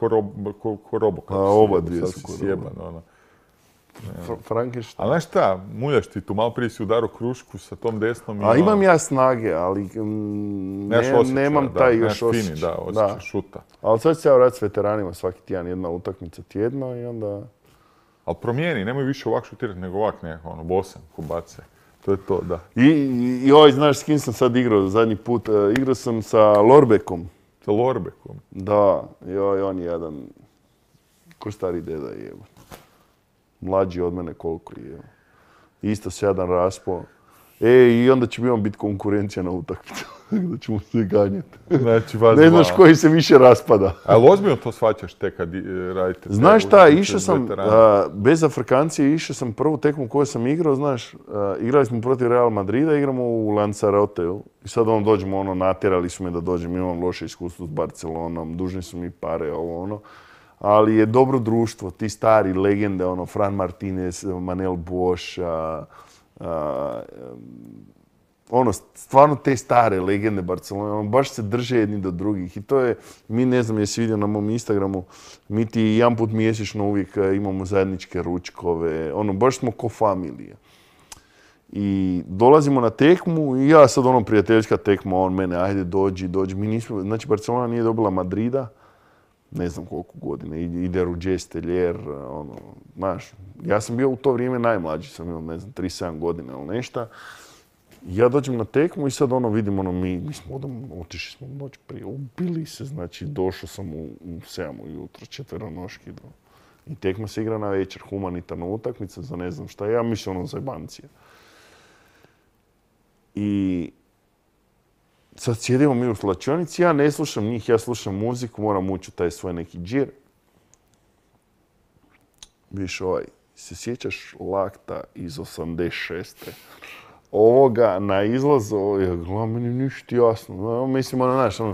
ko robo.
A oba dvije su
ko
ko
sjeban, ono.
Frankenstein.
A znaš šta, muljaš ti tu, malo prije si udarao krušku sa tom desnom i
A imam ja snage, ali nemam taj još osjećaj.
Fini, da, osjećaj šuta.
Ali sad ću se ja vratiti s veteranima svaki tjedan, jedna utakmica tjedno i onda...
Ali promijeni, nemoj više ovak šutirati nego ovak nekako, ono, bosan, ko bace. To je to, da.
I znaš s kim sam sad igrao zadnji put? Igrao sam sa Lorbekom.
Sa Lorbekom.
Da, on je jedan... Ko stari deda je. Mlađi od mene koliko je. Isto se jedan raspo. I onda će mi on biti konkurencija na utakmicu. Da ćemo se ganjati.
Znači, vas
ne znaš koji se više raspada.
Ali ozbiljno to shvaćaš te kad radite?
Znaš šta, išao sam, bez Afrikancije, išao sam prvu tekmu koju sam igrao, znaš, igrali smo protiv Real Madrida, igramo u Lanzaroteu. I sad dođemo, natjerali su me da dođem, imam loše iskustvo s Barcelonom, dužni su mi pare, ali je dobro društvo, ti stari legende, Fran Martinez, Manel Bosch, stvarno te stare legende Barcelone, baš se drže jedni do drugih. I to je, mi ne znam jesi vidio na mom Instagramu, mi ti jedan put mjesečno uvijek imamo zajedničke ručkove, baš smo ko familija. I dolazimo na tekmu i ja sad prijateljska tekma, on mene, ajde dođi. Mi nismo, znači Barcelona nije dobila Madrida, ne znam koliko godina, ide Rudjes Teljer, znaš, ja sam bio u to vrijeme najmlađi, sam imao, ne znam, 37 godina ili nešto. Ja dođem na tekmu i sad vidim, mi smo otišli smo noć prije, ubili se, znači došao sam u 7 ujutro, četveronoški. I tekma se igra na večer, humanitarna utakmica za ne znam šta, ja mislim za jebancija. I sad sjedimo mi u slačionici, ja ne slušam njih, ja slušam muziku, moram ući u taj svoj neki džir. Viš se sjećaš lakta iz 86. Ovoga na izlazu, meni ništa jasno. Mislim,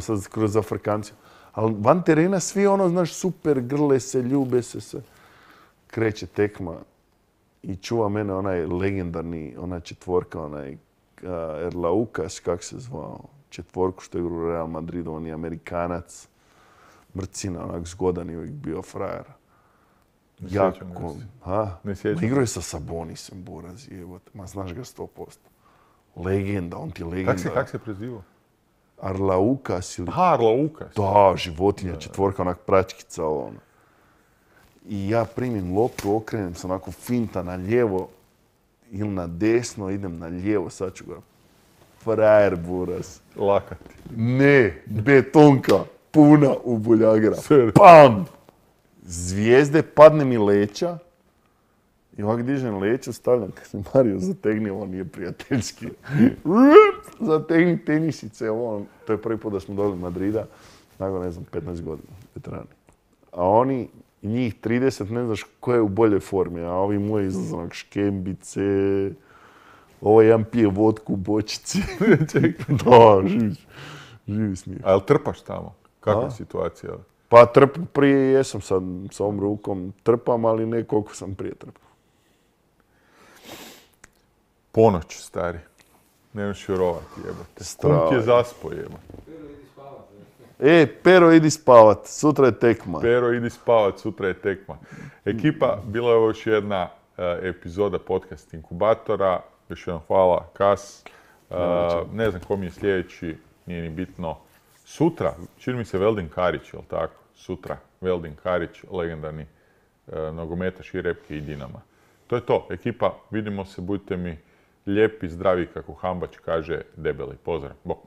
sad kroz Afrikanciju. Ali van terena svi znaš, super, grle se, ljube se sve. Kreće tekma i čuva mene onaj legendarni, ona četvorka, onaj Erlaukas, kak se zvao, četvorku što je u Real Madridu, on je Amerikanac, mrcina, onak zgodan i uvijek bio frajer. Jako.
Ne sjećam.
Igrao je sa Sabonisem, Buraz, jebote. Ma znaš ga 100%. Legenda, on ti je legenda.
Kak se prezivao?
Arlaukas ili...
Arlaukas.
Da, životinja, četvorka, onak pračkica, I ja primim loptu, okrenem se onako finta na lijevo ili na desno, idem na lijevo, sad ću ga... Frajer, Buraz.
Lakati.
Ne, betonka, puna u buljagira. Pam! Zvijezde, padne mi leća i ovak dižem leću, stavljam, kad se Mario zategni, ovo nije prijateljski. Zategni tenisice, to je prvi put da smo dobili Madrida, nakon, ne znam, 15 godina, veterani. A oni, njih 30, ne znaš ko je u boljoj formi, a ovi moji izlazak škembice, ovo jedan pije vodku u bočici. Da, živi smije.
A jel trpaš tamo? Kakva je situacija?
Pa prije jesam sad sa ovom rukom, trpam, ali ne koliko sam prije trpao.
Ponoć, stari. Nemaš vjerovati, jebote. Kum ti je zaspo, jebote.
Pero, idi spavat, sutra je tekma.
Pero, idi spavat, sutra je tekma. Ekipa, bila je ovo još jedna epizoda podcast Inkubatora. Još jednom hvala, Kas. Ne znam ko mi je sljedeći, nije ni bitno. Sutra, čini mi se Veldin Karić, jel tako? Sutra, Veldin Karić, legendarni nogometaš i Repke i Dinama. To je to, ekipa, vidimo se, budite mi lijepi, zdravi, kako Hambač kaže, debeli. Pozdrav, bok.